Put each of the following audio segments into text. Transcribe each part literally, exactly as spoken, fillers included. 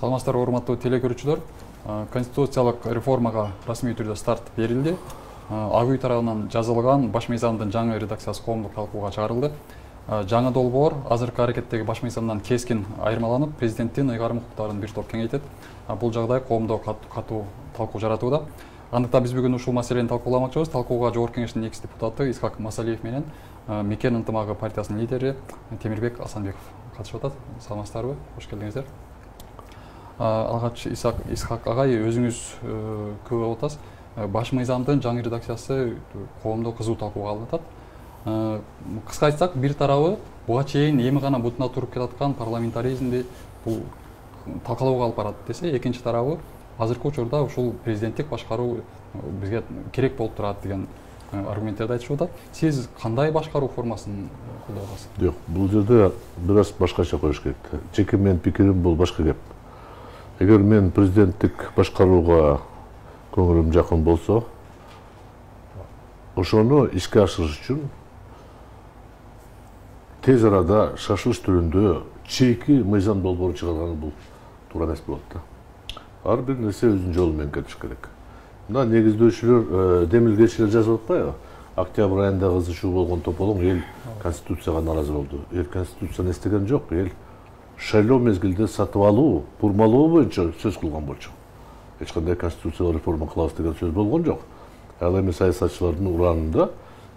Саламатсыздарбы, урматтуу телекөрүүчүлөр. Конституциялык реформага расмий түрдө старт берилди. Ак үй тарабынан жазылган баш мыйзамдын жаңы редакциясы коомдук талкууга чыгарылды. Жаңы долбоор азыркы аракеттеги баш мыйзамдан кескин айырмаланып, президенттин ыйгарым укуктарын бир топ кеңейтет. Бул жагдай коомдо катуу талкуу жаратууда. Андыктан биз бүгүн ушул маселени талкууламакчыбыз. Талкууга Жогорку Кеңештин экс депутаты Исхак Масалиев менен Мекен ынтымагы партиясынын лидери Темирбек Асанбеков катышып атат. Саламатсыздарбы? Кош келдиңиздер. Алгач Исхак агай, өзүңүз көп болуп атасыз. Баш мыйзамдын жаңы редакциясы коомдо кызуу талкууга алынып атат. Кыска айтсак, бир тарабы буга чейин эми гана бутуна туруп келаткан парламентаризмди бул талкалоого алып барат десе, экинчи тарабы азыркы учурда ушул президенттик башкаруу бизге керек болуп турат деген аргументтерди айтышып атат. Сиз кандай башкаруу формасын колдойсуз? Жок, бул жерде бир аз башкача коюш керек. Жеке менин пикирим бул башка кеп. Эгер мен президенттик башкарууга көңүлүм жакын болсо, ошону ишке ашырыш үчүн тез арада шашылыш түрүндө чейки мыйзам долбоорун чыгарганы бул туура эмес болот да. Ар бир нерсе өзүнүн жолу менен кетиш керек. Мына негиздөөчүлөр, демилгечилер жазып атпайбы? Октябрь айында кызышуу болгон тополоң эл конституцияга нааразы болду. Эл конституцияны эстеген жок, эл шайлоо мезгилде сатып алуу, бурмалоо боюнча сөз кылган болчу. Эч кандай конституциялык реформа кылабыз деген сөз болгон жок. Ал эми саясатчылардын уранында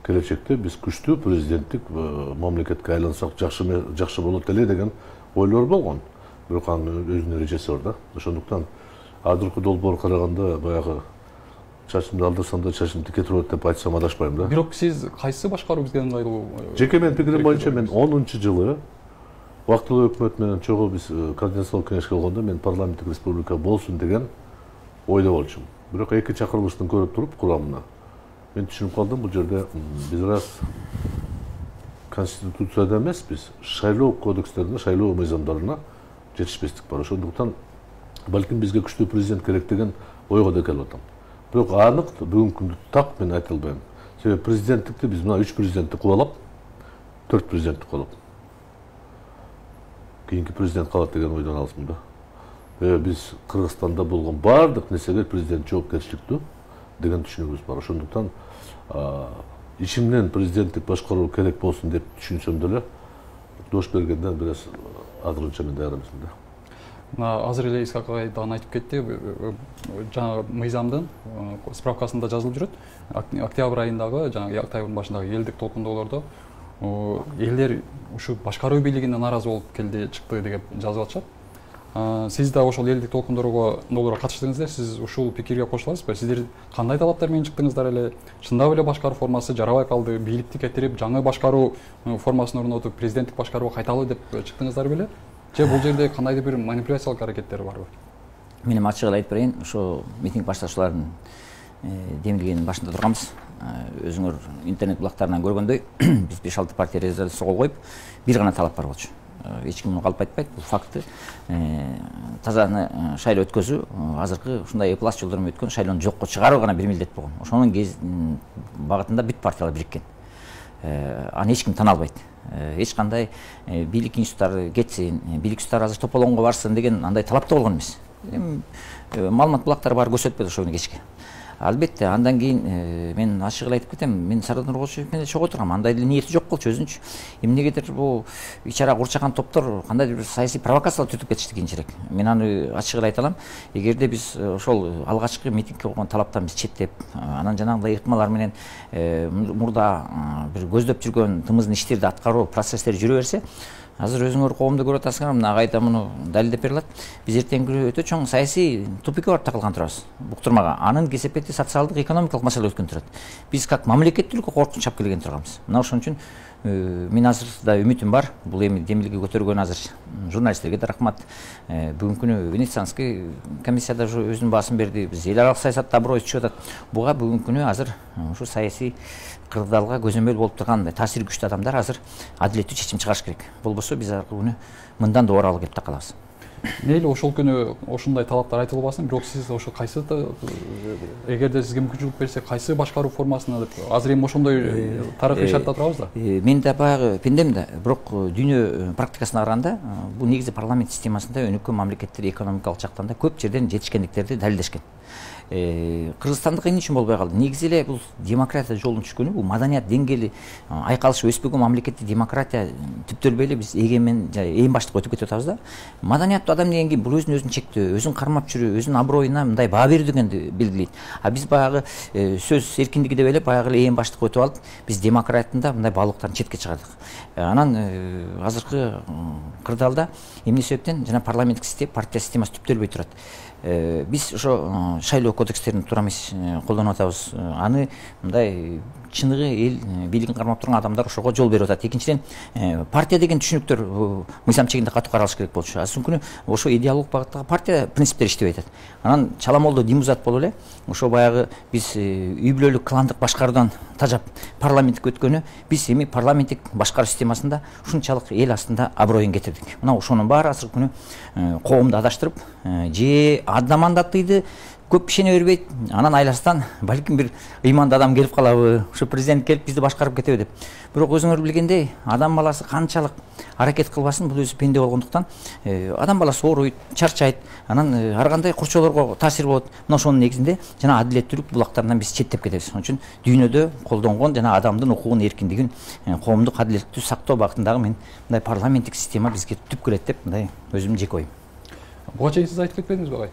келечекте биз күчтүү президенттик мамлекетке айлансак жакшы жакшы болот эле деген ойлор болгон. Бирок анын өзүнүн эрежеси бар да. Ошондуктан азыркы долбоор караганда баягы чачымды алдырсам да чачым тике турат деп айтсам адашпайм да. Бирок сиз кайсы башкаруу бизге ыңгайлуу? Жеке менин пикирим боюнча мен онунчу жылы вактылуу өкмөт менен чогуу биз координациялык кеңешке болгондо мен парламенттик республика болсун деген ойдо болчумун. Бирок эки чакырылыштын көрүп туруп курамына мен түшүнүп калдым, бул жерде биз раз конституцияда эмеспиз, шайлоо кодекстерине, шайлоо мыйзамдарына жетишпестик бар. Ошондуктан балким бизге күчтүү президент керек деген ойго да келип атам. Бирок анык бүгүнкү күндө так мен айта албайм. Себеби президенттикти биз мына үч президентти кубалап, төрт президентти кубалап кийинки президент калат деген ойдон алысмын да. Биз Кыргызстанда болгон баардык нерсеге президент жоопкерчиликтүү деген түшүнүгүбүз бар. Ошондуктан ичимден президенттик башкаруу керек болсун деп түшүнсөм деле, дош бергенде бир аз азырынча мен даяр эмесмин да. Азыр эле Исхак агай дагы айтып кетти, жаңы мыйзамдын справкасында жазылып жүрөт. Октябрь айындагы, жаңы октябрдын башындагы элдик толкундоолордо элдер ушу башкаруу бийлигине нааразы болуп келди, чыкты деп жазып атышат. Сиз да ошол элдик толкундоолорго катыштыңыздар, сиз ушул пикирге кошуласызбы? Сиздер кандай талаптар менен чыктыңыздар эле? Чындап эле башкаруу формасы жарабай калды, бийликти кетирип, жаңы башкаруу формасын орнотуп, президенттик башкарууга кайталы деп чыктыңыздар беле? Же бул жерде кандайдыр бир манипуляциялык аракеттер барбы? Мен ачык эле айтып берейин, ошо митинг баштаушулардын демилгенин башында турганбыз. Өзүңөр интернет булактарынан көргөндөй, биз беш алты партия резолюцияга кол коюп, бир гана талап бар болчу. Эч ким муну калп айтпайт, бул факты. Таза шайлоо өткөзүү, азыркы ушундай эплас жолдор менен өткөн шайлоону жокко чыгаруу гана бир милдет болгон. Ошонун багытында бүт партиялар бириккен. Аны эч ким тана албайт. Эч кандай бийлик институттары кетсин, бийлик институттары азыр тополоңго барсын деген андай талап да болгон эмес. Маалымат булактары бар көрсөтпөдү ошол күнү кечке. Албетте, андан кийин мен ачык эле айтып кетем, мен Сардар Нуркулович менен чогуу тургам, андай эле ниети жок болчу өзүнчү. Эмнегедир бул ичара курчаган топтор кандайдыр бир саясий провокациялар түтүп кетишти кийинчерээк. Мен аны ачык эле айта алам. Эгерде биз ошол алгачкы митингке койгон талаптан биз четтеп, анан жанагындай ыктымалар менен мурда бир көздөп жүргөн тымыздын иштерди аткаруу процесстери жүрө берсе, азыр өзүңөр коомдо көрүп атасыңар, мына агай да муну далилдеп бере алат. Биз эртеңки өтө чоң саясий тупикке барып такылган турабыз. Буктурмага анын кесепети социалдык, экономикалык маселе өткөн турат. Биз как мамлекеттүүлүккө коркунуч чап келген турганбыз. Мына ошон үчүн мен азыр да үмүтүм бар. Бул эми демилге көтөргөн азыр журналисттерге да рахмат. Бүгүнкү күнү Венецианский комиссияда өзүнүн баасын берди. Биз эл аралык саясатта аброй түшүп атат. Буга бүгүнкү күнү азыр ушу саясий кырдаалга көзөмөл болуп турган таасири күчтүү адамдар азыр адилеттүү чечим чыгарыш керек. Болбосо биз аркы күнү мындан да оралып кетип калабыз. мейли ошол күнү ошондой талаптар айтылбасын, бирок сиз ошо кайсы, эгерде сизге мүмкүнчүлүк берсе, кайсы башкаруу формасына деп азыр эми ошондой тарыхый шартта турабыз да. Мен да баягы пендем да, бирок дүйнө практикасына караганда бул негизи парламент системасында өнүккөн мамлекеттер экономикалык жактан да көп жерден жетишкендиктерди далилдешкен. Кыргызстандык эмне үчүн болбой калды? Негизи эле бул демократия жолун түшкөнү, бул маданият деңгээли айкалышып өспөгөн мамлекетте демократия түптөлбөй эле биз эгемен эң баштыкка өтүп кетип атабыз да. Маданияттуу адам деген кийин бул өзүн өзүн чектөө, өзүн кармап жүрүү, өзүнүн аброюна мындай баа берүү дегенди белгилейт. А биз баягы сөз эркиндиги деп эле баягы эле эң баштыкка өтүп алып, биз демократияда мындай баалуулуктарын четке чыгардык. Анан азыркы кырдаалда эмне себептен жана парламенттик система, партия системасы түптөлбөй турат. Биз ошо шайлоо кодекстерин туура эмес колдонуп атабыз. Аны мындай чыныгы эл бийлигин кармап турган адамдар ошого жол берип атат. Экинчиден, партия деген түшүнүктөр мыйзам чегинде катуу каралыш керек болчу. Азыркы күнү ошо идеологиялык багыттагы партия принциптери иштебей атат. Анан чаламолдо димузат болуп эле ошо баягы биз үй бүлөлүк кландык башкаруудан тажап парламенттик өткөнү, биз эми парламенттик башкаруу системасында ушунчалык эл астында аброюн кетирдик. Мына ошонун баары азыркы күнү коомду адаштырып, же адда мандаттыйды көп ишене бербейт, анан айласынан балким бир ыймандуу адам келип калабы, ушу президент келип бизди башкарып кетеби деп. Бирок өзүңөр билгендей, адам баласы канчалык аракет кылбасын, бул өзү пенде болгондуктан адам баласы ооруйт, чарчайт, анан ар кандай курчоолорго таасир болот. Мына ошонун негизинде жана адилеттүүлүк булактарынан биз четтеп кетебиз. Ошон үчүн дүйнөдө колдонгон жана адамдын укугун, эркиндигин, коомдук адилеттүү сактоо багытындагы мен мындай парламенттик система бизге түп келет деп мындай өзүмдүн жеке оюм. Буга чейин сиз айтып кетпедиңизби агай?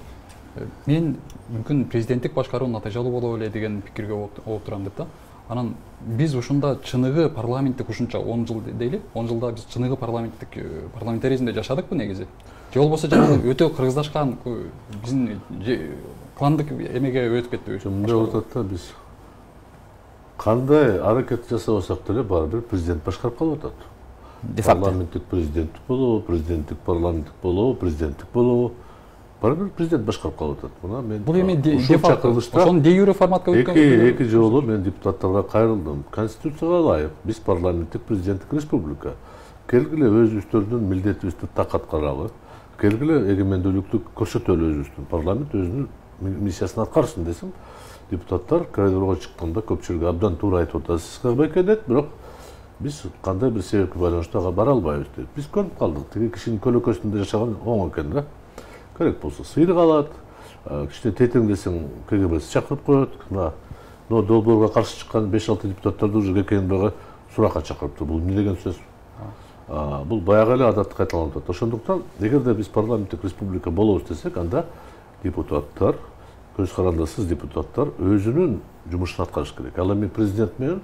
Мен мүмкүн президенттик башкаруу натыйжалуу боло эле деген пикирге болуп турам деп да. Анан биз ушунда чыныгы парламенттик ушунча он жыл дейли, он жылда биз чыныгы парламенттик парламентаризмде жашадыкпы негизи? Же болбосо жанагы өтө кыргызлашкан биздин кландык эмеге өтүп кетпейби? Мындай болуп атат да, биз кандай аракет жасабасак деле баары бир президент башкарып калып атат. Парламенттик президенттик болобу, президенттик парламенттик болобу, президенттик болобу, баары бир президент башкарып калып атат. Мына мен бул эми ошонун де юре форматка өткөн. Эки эки жолу мен депутаттарга кайрылдым. Конституцияга ылайык биз парламенттик президенттик республика. Келгиле өзүбүздөрдүн милдетибизди так аткаралы. Келгиле эгемендүүлүктү көрсөтөлү өзүбүздүн. Парламент өзүнүн миссиясын аткарсын десем, депутаттар коридорго чыкканда көпчүлүгү абдан туура айтып атасыз байке дейт, бирок биз кандай бир себепке байланыштуу ага бара албайбыз дейт. Биз көрүп калдык, тиги кишинин көлөкөсүндө жашаган оң экен да. Керек болсо сыйрык алат, кичине тетең десең КГБ чакырып коет. Мына но долбоорго каршы чыккан беш алты депутаттарды уже КГБга суракка чакырыптыр. Бул эмне деген сөз? Бул баягы эле адатты кайталанып атат. Ошондуктан эгерде биз парламенттик республика болобуз десек, анда депутаттар, көз карандысыз депутаттар өзүнүн жумушун аткарыш керек. Ал эми президент менен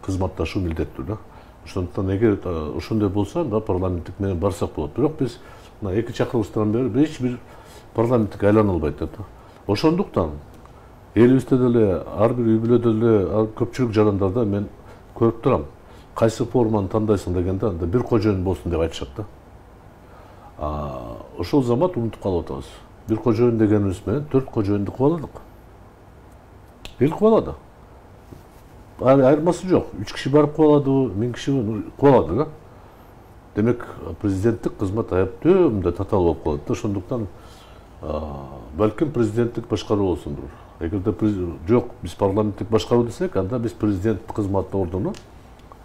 кызматташуу милдеттүү да. Ошондуктан эгер ошондой болсо, анда парламенттик менен барсак болот. Бирок биз мына эки чакырылыштан бери эч бир парламенттик айлана албайт да. Ошондуктан элибизде деле ар бир үй бүлөдө деле көпчүлүк жарандарда мен көрүп турам. Кайсы форманы тандайсың дегенде анда бир кожоюн болсун деп айтышат да. Ошол замат унутуп калып атабыз. Бир кожоюн дегенибиз менен төрт кожоюнду кубаладык. Эл кубалады. Айырмасы жок. Үч киши барып кубаладыбы, миң киши кубалады да. Демек, президенттик кызмат аябытөө мындай татаал болуп калат да. Ошондуктан балким президенттик башкаруу болсундур. Эгерде жок, биз парламенттик башкаруу десек, анда биз президент кызмат ордуну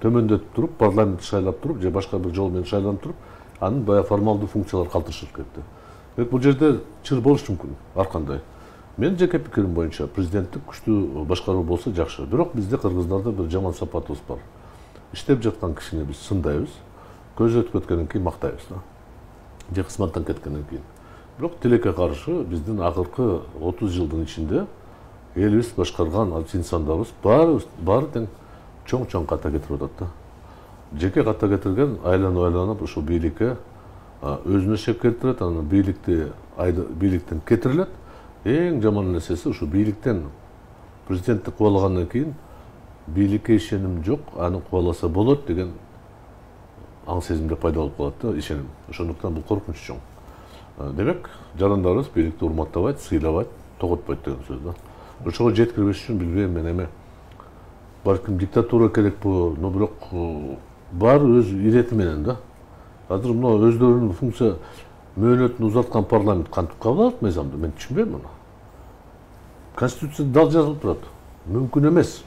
төмөндөтүп туруп, парламент шайлап туруп, же башка бир жол менен шайланып туруп, анын баягы формалдуу функциялары калтырышыш керек да. Демек, бул жерде чыр болушу мүмкүн, ар кандай. Мен жеке пикирим боюнча президенттик күчтүү башкаруу болсо жакшы. Бирок бизде кыргыздарда бир жаман сапатыбыз бар. Иштеп жаткан кишини биз сындайбыз, көзү өтүп кеткенден кийин мактайбыз да. Же кызматтан кеткенден кийин. Бирок тилекке каршы биздин акыркы отуз жылдын ичинде элибиз башкарган инсандарыбыз баары баары тең чоң-чоң ката кетирип атат да. Жеке ката кетирген айланып-айланып ушул бийликке өзүнө шек келтирет, анан бийликти бийликтен кетирилет. Эң жаман нерсеси ушу бийликтен президентти кубалагандан кийин бийликке ишеним жок, аны кубаласа болот деген аң сезимде пайда болуп калат да, ишеним. Ошондуктан бул коркунуч чоң. Демек, жарандарыбыз бийликти урматтабайт, сыйлабайт, тоготпойт деген сөз да. Ошого жеткирбеш үчүн билбейм мен эме балким диктатура керекпи, но бирок баары өз ирети менен да. Азыр мына өздөрүнүн функция мөөнөтүн узаткан парламент кантип кабыл алат мыйзамды? Мен түшүнбөйм муну. Конституцияда дал жазылып турат. Мүмкүн эмес.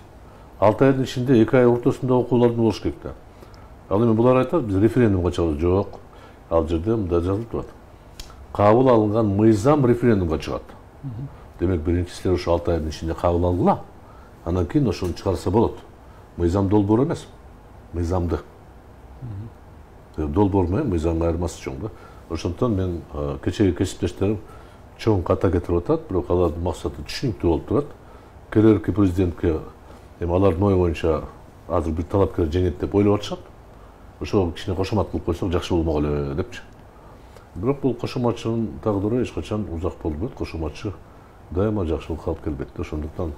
алты айдын ичинде эки ай ортосунда окуулардын болуш керек да. Ал эми булар айтат, биз референдумга чыгабыз. Жок. Ал жерде мында жазылып турат. Кабыл алынган мыйзам референдумга чыгат. Демек, биринчи силер ошо алты айдын ичинде кабыл алгыла. Андан кийин ошону чыгарса болот. Мыйзам долбоор эмес. Мыйзамды. Долбоор менен мыйзамдын айырмасы чоң да. Ошондон мен кечеги кесиптештерим чоң ката кетирип атат, бирок алардын максаты түшүнүктүү болуп турат. Келерки президентке эми алардын ою боюнча азыр бир талапкер жеңет деп ойлоп атышат. Ошого кичине кошомат кылып койсок жакшы болмок эле депчи. Бирок бул кошоматчынын тагдыры эч качан узак болбойт. Кошоматчы дайыма жакшылыкка алып келбейт. Ошондуктан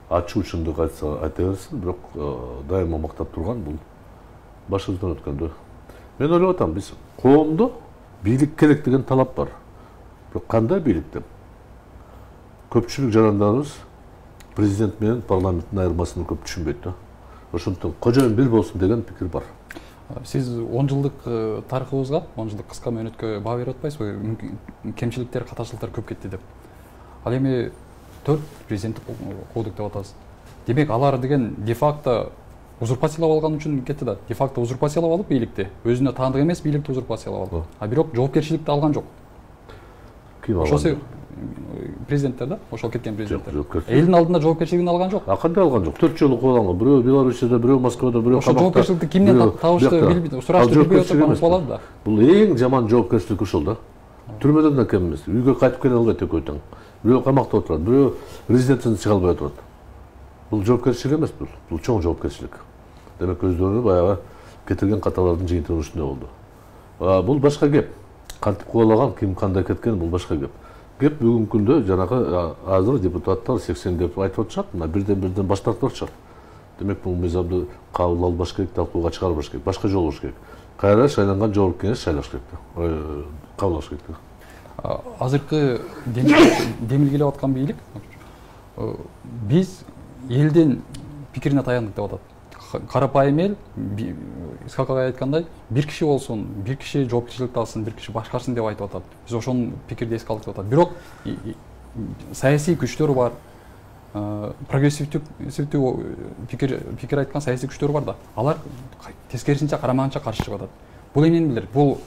ачуу чындык айтса айта берсин, бирок дайыма мактап турган бул башыбыздан өткөндө. Мен ойлоп атам, биз коомдо бийлик керек деген талап бар. Бирок кандай бийлик деп? Көпчүлүк жарандарыбыз президент менен парламенттин айырмасын көп түшүнбөйт да. Ошондуктан кожоюн бир болсун деген пикир бар. Сиз он жылдык тарыхыбызга, он жылдык кыска мөөнөткө баа берип атпайсызбы? Кемчиликтер, катачылыктар көп кетти деп. Ал эми төрт президенттик кодук деп атасыз. Демек, алар деген де-факто узурпациялап алган үчүн кетти да. Де-факто узурпациялап алып бийликти, өзүнө таандык эмес бийликти узурпациялап алды. А бирок жоопкерчиликти алган жок. Ким алган? Ошол президенттер да, ошол кеткен президенттер. Элдин алдында жоопкерчилигин алган жок. А кандай алган жок? төрт жолу кубаланган. Бирөө Белоруссияда, бирөө Москвада, бирөө камакта. Ошол жоопкерчиликти кимден табышты билбейт, сурашты билбей атып болот да. Бул эң жаман жоопкерчилик ушул да. Түрмөдөн да кем эмес. Үйгө кайтып келе албайт экөө тең. Бирөө камакта отурат, бирөө резиденциядан чыга албай отурат. Бул жоопкерчилик эмес бул. Бул чоң жоопкерчилик. Демек, өздөрү баягы кетирген каталардын жыйынтыгынын үстүндө болду. Бул башка кеп. Кантип кубалаган, ким кандай кеткен бул башка кеп. Кеп бүгүнкү күндө жанагы азыр депутаттар сексен деп айтып атышат, мына бирден бирден баш тартып атышат. Демек, бул мыйзамды кабыл албаш керек, талкууга чыгарбаш керек, башка жол болуш керек. Кайра шайланган жогорку кеңеш шайлаш керек да. Кабыл алыш керек да. Азыркы демилгелеп аткан бийлик биз элдин пикирине таяндык деп атат. Карапайым эл, Исхак агай айткандай, бир киши болсун, бир киши жоопкерчиликти алсын, бир киши башкарсын деп айтып атат. Биз ошол пикирди эске алдык деп атат. Бирок саясий күчтөр бар, прогрессивдүү пикир пикир айткан саясий күчтөр бар да. Алар тескерисинче карамаганча каршы чыгып атат. Бул эмнени билдирет? Бул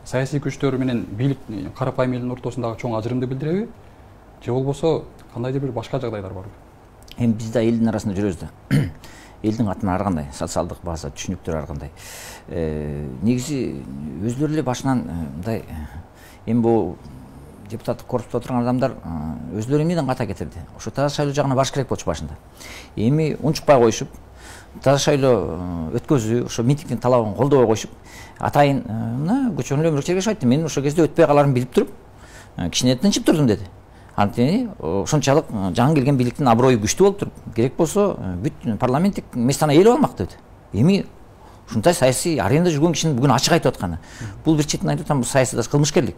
саясий күчтөр менен бийлик карапайым элдин ортосундагы чоң ажырымды билдиреби? Же болбосо кандайдыр бир башка жагдайлар барбы? Эми биз да элдин арасында жүрөбүз да. Элдин катынан ар кандай, социалдык база, түшүнүктөр ар кандай. Негизи өзлөрү эле башынан мындай эми бул депутаттык корпуста отурган адамдар өзлөрү эмнеден ката кетирди? Ошо таза шайлоо жагына баш керек болчу башында. Эми унчукпай коюшуп, таза шайлоо өткөзүү, ошо митингдин талабын колдобой коюшуп, атайын мына көчөнүн өмүрү чергеш айтты. Мен ошол кезде өтпөй каларын билип туруп, кичине тынчып турдум деди. Антени ошончалык жаңы келген бийликтин аброю күчтүү болуп туруп, керек болсо бүт парламенттик местаны ээлеп алмак деди. Эми ушундай саясий аренада жүргөн кишинин бүгүн ачык айтып атканы. Бул бир четинен айтып атам, бул саясий кылмышкерлик.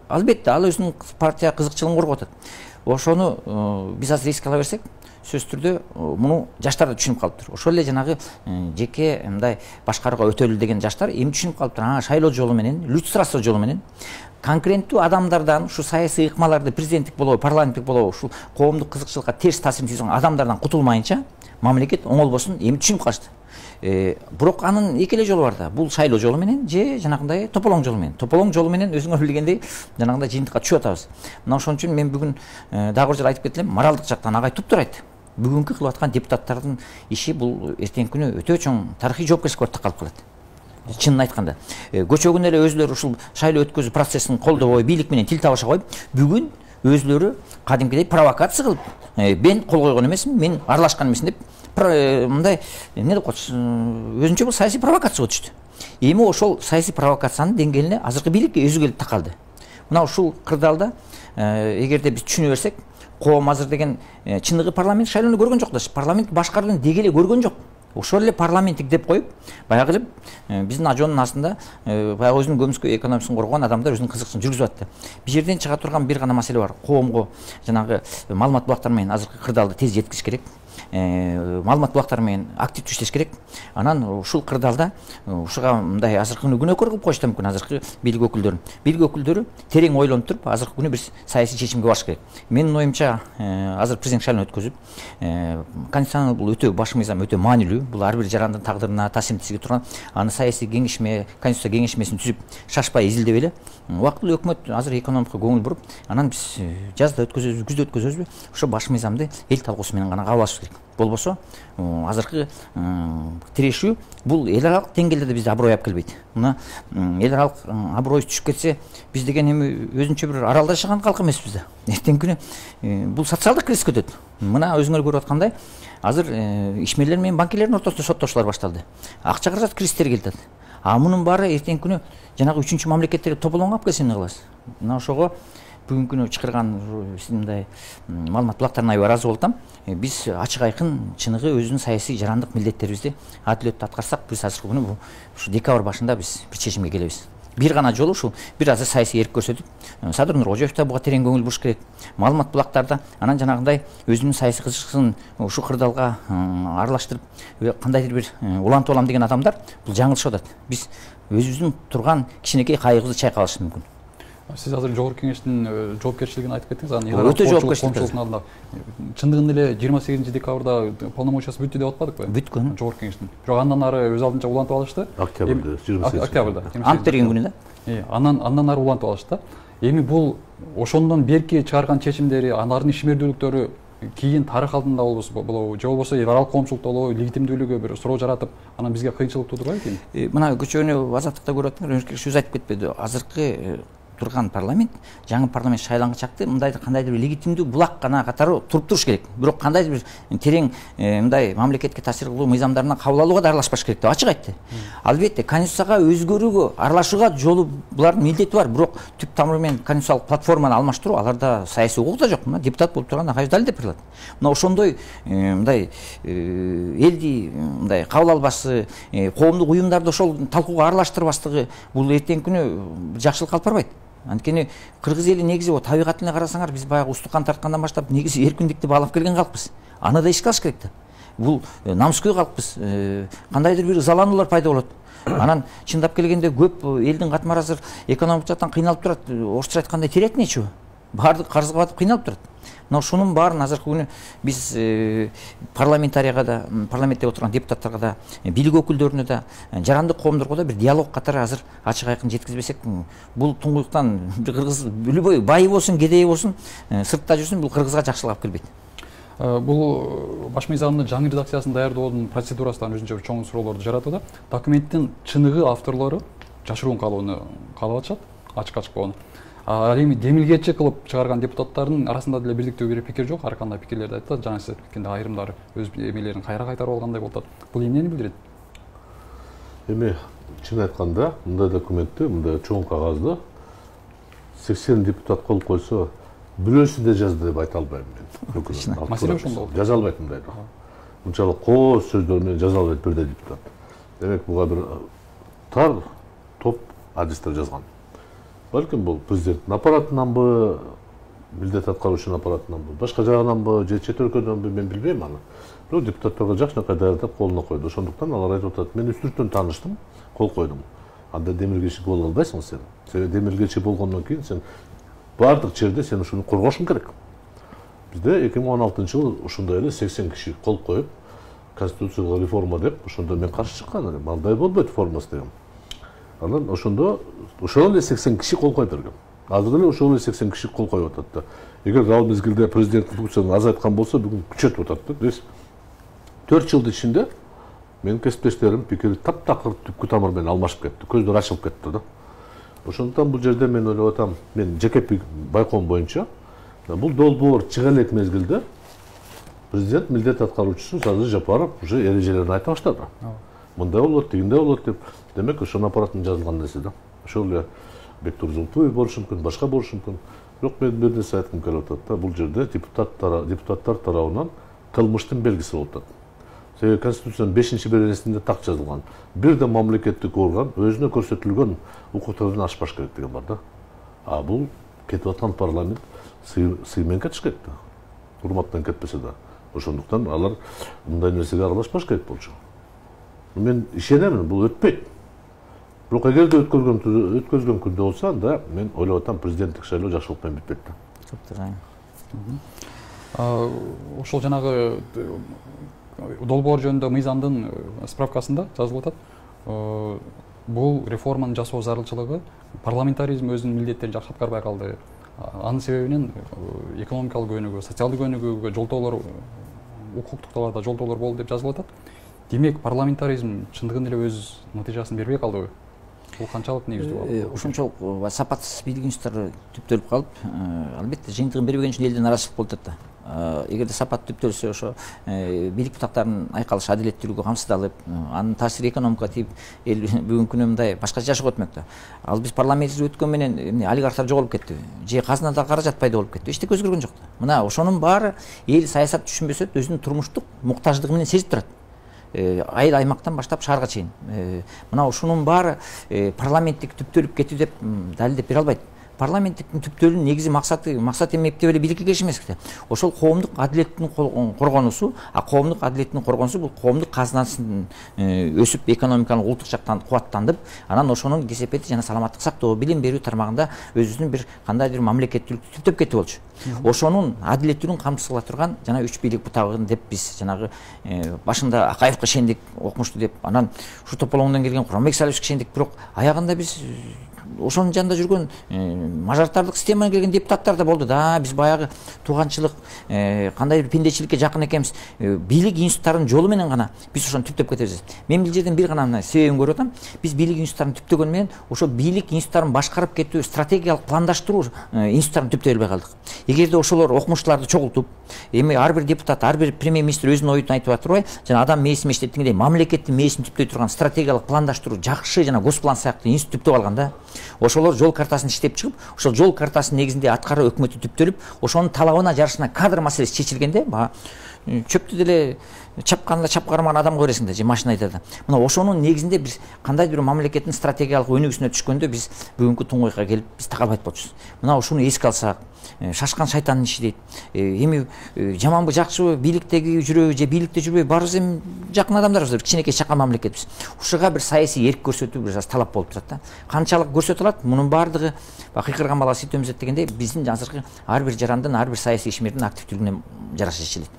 Албетте ал өзүнүн партия кызыкчылыгын коргоп атат. Ошону биз азыр эске ала берсек, сөзсүз түрдө муну жаштар да түшүнүп калыптыр. Ошол эле жанагы жеке мындай башкарууга өтөлү деген жаштар эми түшүнүп калыптыр. А шайлоо жолу менен, люстрация жолу менен конкуренттүү адамдардан, ушу саясий ыкмаларды президенттик болобу, парламенттик болобу, ушул коомдук кызыкчылыкка терс таасирин тийгизген адамдардан кутулмайынча мамлекет оңолбосун эми түшүнүп калышты. Бирок анын эки эле жолу бар да. Бул шайлоо жолу менен же жанагындай тополоң жолу менен. Тополоң жолу менен өзүңөр билгендей жанагындай жыйынтыкка түшүп атабыз. Мына ошон үчүн мен бүгүн дагы бир жолу айтып кетелем, моралдык жактан агай туптуур айтты. Бүгүнкү кылып аткан депутаттардын иши бул эртеңки күнү өтө чоң тарыхый жоопкерчиликке тақалып калат. Чынын айтканда, көчөгүн эле өзүлөрү ушул шайлоо өткөзүү процессин колдобой, бийлик менен тил табыша коюп, бүгүн өзүлөрү кадимкидей провокация кылып, мен кол койгон эмесмин, мен аралашкан эмесмин деп мындай эмне деп коет, өзүнчө бул саясий провокацияга түштү. Эми ошол саясий провокациянын деңгээлине азыркы бийликке өзү келип такалды. Мына ушул кырдаалда эгерде биз түшүнө берсек, коом азыр деген чындыгы парламент шайлоону көргөн жок да, парламент башкарууну деги эле көргөн жок. Ошол эле парламенттик деп коюп, баягы эле биздин ажоонун астында баягы өзүнүн көмүскө экономиясын коргогон адамдар өзүнүн кызыкчылыгын жүргүзүп атты. Бул жерден чыга турган бир гана маселе бар. Коомго жанагы маалымат булактары менен азыркы кырдаалды тез жеткизиш керек. маалымат булактары менен активдүү иштеш керек. Анан ушул кырдаалда ушуга мындай азыркы күнү күнөөкөр кылып коюш да мүмкүн азыркы бийлик өкүлдөрүн. Бийлик өкүлдөрү терең ойлонуп туруп азыркы күнү бир саясий чечимге барыш керек. Менин оюмча азыр президент шайлоон өткөзүп, конституциянын бул өтө баш мыйзам өтө маанилүү. Бул ар бир жарандын тагдырына таасирин тийгизе турган. Аны саясий кеңешме, конституция кеңешмесин түзүп, шашпай изилдеп эле убактылуу өкмөт азыр экономикага көңүл буруп, анан биз жазда өткөзөбүз, күздө өткөзөбүзбү? Ошо баш мыйзамды эл талкуусу менен гана кабыл алыш керек. Болбосо азыркы тирешүү бул эл аралык деңгээлде бизде аброй алып келбейт. Мына эл аралык аброй түшүп кетсе, биз деген эми өзүнчө бир аралда жашаган калк эмеспиз да. Эртеңки күнү бул социалдык кризиске өтөт. Мына өзүңөр көрүп аткандай, азыр ишмерлер менен банкирлердин ортосунда соттошуулар башталды. Акча каражат кризистери келип атат. А мунун баары эртеңки күнү жанагы үчүнчү мамлекеттерге тополоңго алып келсе эмне кыласыз? Мына ошого бүгүнкү күнү чакырган сиздин мындай маалымат булактарына аябай ыраазы болуп атам. Биз ачык айкын чыныгы өзүнүн саясий жарандык милдеттерибизди адилеттүү аткарсак, биз азыркы күнү ушу декабрь башында биз бир чечимге келебиз. Бир гана жолу ушул бир азыр саясий эрк көрсөтүп, Садыр Нуркожоев да буга терең көңүл буруш керек. Маалымат булактарда анан жанагындай өзүнүн саясий кызыкчылыгын ушу кырдаалга аралаштырып, кандайдыр бир улантып алам деген адамдар бул жаңылышып атат. Биз өзүбүздүн турган кичинекей кайыгыбызды чайкап алышыбыз мүмкүн. Сиз азыр жогорку кеңештин жоопкерчилигин айтып кеттиңиз. Анан өтө жоопкерчилик алдында чындыгында эле жыйырма сегизинчи декабрда полномочиясы бүттү деп атпадыкпы? Бүткөн. Жогорку кеңештин. Бирок андан ары өз алдынча улантып алышты. Октябрда, жыйырма сегизинчи октябрда. Ант берген күнү да. Анан андан ары улантып алышты. Эми бул ошондон берки чыгарган чечимдери, алардын ишмердүүлүктөрү кийин тарых алдында болобу, же болбосо эл аралык коомчулукта болобу, легитимдүүлүгү бир суроо жаратып, анан бизге кыйынчылык туудурбайбы экен? Мына көчөнү азаттыкта көрүп атыңар, өзү айтып кетпеди. Азыркы турган парламент, жаңы парламент шайланган чакты мындайдыр кандайдыр бир легитимдүү булак гана катары туруп туруш керек. Бирок кандайдыр бир терең мындай мамлекетке таасир кылуу мыйзамдарына кабыл алууга да аралашпаш керек деп ачык айтты. Албетте конституцияга өзгөрүүгө, аралашууга жолу булардын милдети бар, бирок түп тамыры менен конституциялык платформаны алмаштыруу аларда саясий укук да жок. Мына депутат болуп турган Акаев далилдеп берет. Мына ошондой мындай элди мындай кабыл албасы, коомдук уюмдарды ошол талкууга аралаштырбастыгы бул эртеңки күнү жакшылыкка алып барбайт. Анткени кыргыз эли негизи о табигатына карасаңар, биз баягы устукан тарткандан баштап негизи эркиндикти баалап келген калкпыз. Аны да эске алыш керек да. Бул намыскөй калкпыз. Кандайдыр бир ызалануулар пайда болот. Анан чындап келгенде көп элдин катмары азыр экономик жактан кыйналып турат. Орусча айтканда терять нечего. Баардык карызга батып кыйналып турат. Мына ушунун баарын азыркы күнү биз парламентарияга да, парламентте отурган депутаттарга да, бийлик өкүлдөрүнө да, жарандык коомдорго да бир диалог катары азыр ачык айкын жеткизбесек, бул туңгуюктан бир кыргыз любой байы болсун, кедейи болсун, сыртта жүрсүн, бул кыргызга жакшылык алып келбейт. Бул баш мыйзамдын жаңы редакциясын даярдоонун процедурасынан өзүнчө чоң суроолорду жаратууда. Документтин чыныгы авторлору жашыруун калууну каалап атышат, ачык-ачык болгону. Ал эми демилгечи кылып чыгарган депутаттардын арасында деле бирдиктүү бир пикир жок, ар кандай пикирлерди айтат. Жана сиз айткандай айрымдары өз эмелерин кайра кайтарып алгандай болуп атат. Бул эмнени билдирет? Эми чын айтканда, мындай документти, мындай чоң кагазды сексен депутат кол койсо, бирөөсү да жазды деп айта албайм мен. Маселе ошондо. Жаза албайт мындай. Мынчалык кооз сөздөр менен жаза албайт бирдей депутат. Демек буга бир тар топ адистер жазган. Балким бул президенттин аппаратынанбы, милдет аткаруучунун аппаратынанбы, башка жагынанбы, же чет өлкөдөнбү, мен билбейм аны. Бирок депутаттарга жакшынакай даярдап колуна койду. Ошондуктан алар айтып атат, мен үстүртөн тааныштым, кол койдум. Анда демилгечи боло албайсың сен. Себеби демилгечи болгондон кийин сен баардык жерде сен ушуну коргошуң керек. Бизде эки миң он алтынчы жылы ушундай эле сексен киши кол коюп, конституциялык реформа деп, ошондо мен каршы чыккан элем. Андай болбойт формасы деген. Анан ошондо ошол эле сексен киши кол коюп берген. Азыр эле ошол эле сексен киши кол коюп атат да. Эгер ал мезгилде президенттин функциясын азайткан болсо, бүгүн күчөтүп атат да. төрт жылдын ичинде менин кесиптештерим пикири таптакыр түпкү тамыр менен алмашып кетти. Көздөр ачылып кетти да. Ошондуктан бул жерде мен ойлоп атам, мен жеке байкоом боюнча бул долбоор чыга элек мезгилде президент милдет аткаруучусу Садыр Жапаров уже эрежелерин айта баштады. Мындай болот, тигиндей болот деп. Демек ошонун аппаратынан жазылган нерсе да. Ошол эле Бектур Зултуев болушу мүмкүн, башка болушу мүмкүн. Бирок мен бир нерсе айткым келип атат да, бул жерде депутаттар депутаттар тарабынан кылмыштын белгиси болуп атат. Себеби Конституциянын бешинчи беренесинде так жазылган. Бир да мамлекеттик орган өзүнө көрсөтүлгөн укуктардан ашпаш керек деген бар да. А бул кетип аткан парламент сый менен кетиш керек да. Урматтан кетпесе да. Ошондуктан алар мындай нерсеге аралашпаш керек болчу. Мен ишенемин, бул өтпөйт. Бирок эгерде өткөргөн өткөргөн күндө болсо, анда мен ойлоп атам президенттик шайлоо жакшылык менен бүтпөйт да. Ошол жанагы долбоор жөнүндө мыйзамдын справкасында жазылып атат. Бул реформаны жасоо зарылчылыгы парламентаризм өзүнүн милдеттерин жакшы аткарбай калды. Анын себебинен экономикалык көнүгүү, социалдык көнүгүүгө жолтоолор, укуктук талаада жолтоолор болду деп жазылып атат. Демек парламентаризм чындыгында эле өз натыйжасын бербей калдыбы? Бул канчалык негиздүү болду? Ошончолук сапатсыз бийлик институттары түптөлүп калып, албетте жыйынтыгын бербеген үчүн элден наразычылык болуп атат да. Эгерде сапат түптөлсө, ошо бийлик бутактарынын айкалышы, адилеттүүлүгү камсыздалып, анын таасири экономикага тийип, эл бүгүнкү күнү мындай башкача жашоого өтмөк да. Ал биз парламентте өткөн менен эмне олигархтар жоголуп кетти, же казынада каражат пайда болуп кетти, эчтеке өзгөргөн жок да. Мына ошонун баары эл саясат түшүнбөсө өзүнүн турмуштук муктаждыгы менен сезип турат. Айыл аймактан баштап шаарга чейин. Мына ошонун баары парламенттик түптөлүп кетти деп далилдеп бере албайт. Парламенттиктин түптөлүүнүн негизи максаты максат эмек деп эле бийликке келиш эмес. Ошол коомдук адилеттин коргонусу, а коомдук адилеттин коргонусу бул коомдук казынасын өсүп, экономиканын улуттук жактан кубаттандып, анан ошонун кесепети жана саламаттык сактоо, билим берүү тармагында өзүнүн бир кандайдыр мамлекеттүүлүктү түптөп кетип болчу. Ошонун адилеттүүлүгүн камсыз кыла турган жана үч бийлик бутагын деп биз жанагы башында Акаевке ишендик, окумуштуу деп, анан ушу тополоңдон келген Курманбек Салиевичке ишендик, бирок аягында биз ошонун жанында жүргөн мажоритардык системадан келген депутаттар да болду да. Биз баягы тууганчылык, кандай бир пендечиликке жакын экенбиз. Бийлик институттарынын жолу менен гана биз ошону түптөп кетебиз. Мен бул жерден бир гана себебин көрүп атам. Биз бийлик институттарын түптөгөн менен ошо бийлик институттарын башкарып кетүү, стратегиялык пландаштыруу институттарын түптөй албай калдык. Эгерде ошолор окумуштууларды чогултуп, эми ар бир депутат, ар бир премьер-министр өзүнүн оюн айтып атырбай, жана адам мээсин иштеттигиндей мамлекеттин мээсин түптөй турган стратегиялык пландаштыруу жакшы жана госплан сыяктуу институт түптөп алганда, ошолор жол картасын иштеп чыгып, ошол жол картасынын негизинде аткаруу өкмөтү түптөлүп, ошонун талабына жарышына кадр маселеси чечилгенде, чөптү деле чапканда чап кармаган адамга бересиң да, же машина айдада. Мына ошонун негизинде биз кандайдыр бир мамлекеттин стратегиялык өнүгүүсүнө түшкөндө биз бүгүнкү туңгуйга келип биз так албайт болчубуз. Мына ушуну эске алсак, шашкан шайтандын иши дейт. Эми жаманбы, жакшыбы, бийликтеги жүрөбү же бийликте жүрбөйбү, баарыбыз эми жакын адамдарбыз, кичинекей чакан мамлекетбиз. Ушуга бир саясий эрк көрсөтүү бир талап болуп турат да. Канчалык көрсөтө алат? Мунун баардыгы кыйкырган бала сүт эмзет дегендей, биздин азыркы ар бир жарандын, ар бир саясий ишмердин активдүүлүгүнө жараша чечилет.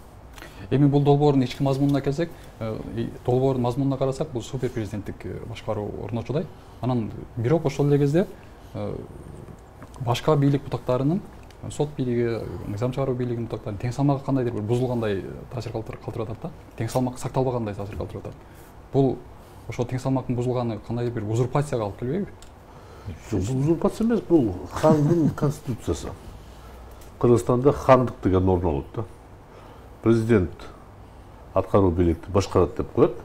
Эми бул долбоордун ички мазмунуна келсек, долбоордун мазмунуна карасак, бул супер президенттик башкаруу орнотуудай. Анан бирок ошол эле кезде башка бийлик бутактарынын, сот бийлиги, мыйзам чыгаруу бийлигинин бутактарынын тең салмагы кандайдыр бир бузулгандай таасир калтырып атат да. Тең салмак сакталбагандай таасир калтырып атат. Бул ошол тең салмактын бузулганы кандайдыр бир узурпацияга алып келбейби? Бул узурпация эмес, бул хандын конституциясы. Кыргызстанда хандык деген норма болот да. Президент аткаруу бийликти башкарат деп коет.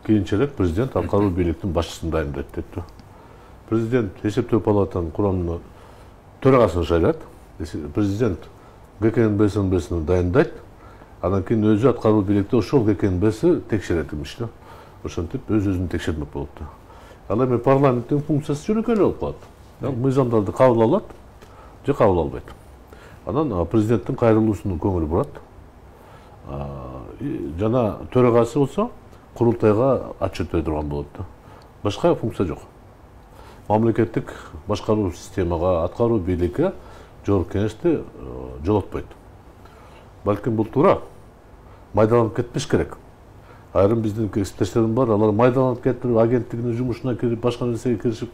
Кийинчерээк президент аткаруу бийликтин башчысын дайындайт деп. Президент эсептөө палатанын курамына төрагасын шайлайт. Президент ГКНБсин дайындайт. Анан кийин өзү аткаруу бийликти ошол ГКНБси текшерет имиш да. Ошентип өз-өзүн текшермек болот да. Ал эми парламенттин функциясы жөнөкөй эле болуп калат. Мыйзамдарды кабыл алат же кабыл албайт. Анан президенттин кайрылуусунун көңүлү бурат. Жана төрагасы болсо курултайга отчет бере турган болот да. Башка функция жок. Мамлекеттик башкаруу системага, аткаруу бийликке жогорку кеңешти жолотпойт. Балким бул туура. Майдаланып кетпеш керек. Айрым биздин эксперттер бар, алар майдаланып кетип, агенттигинин жумушуна кирип, башка нерсеге киришип,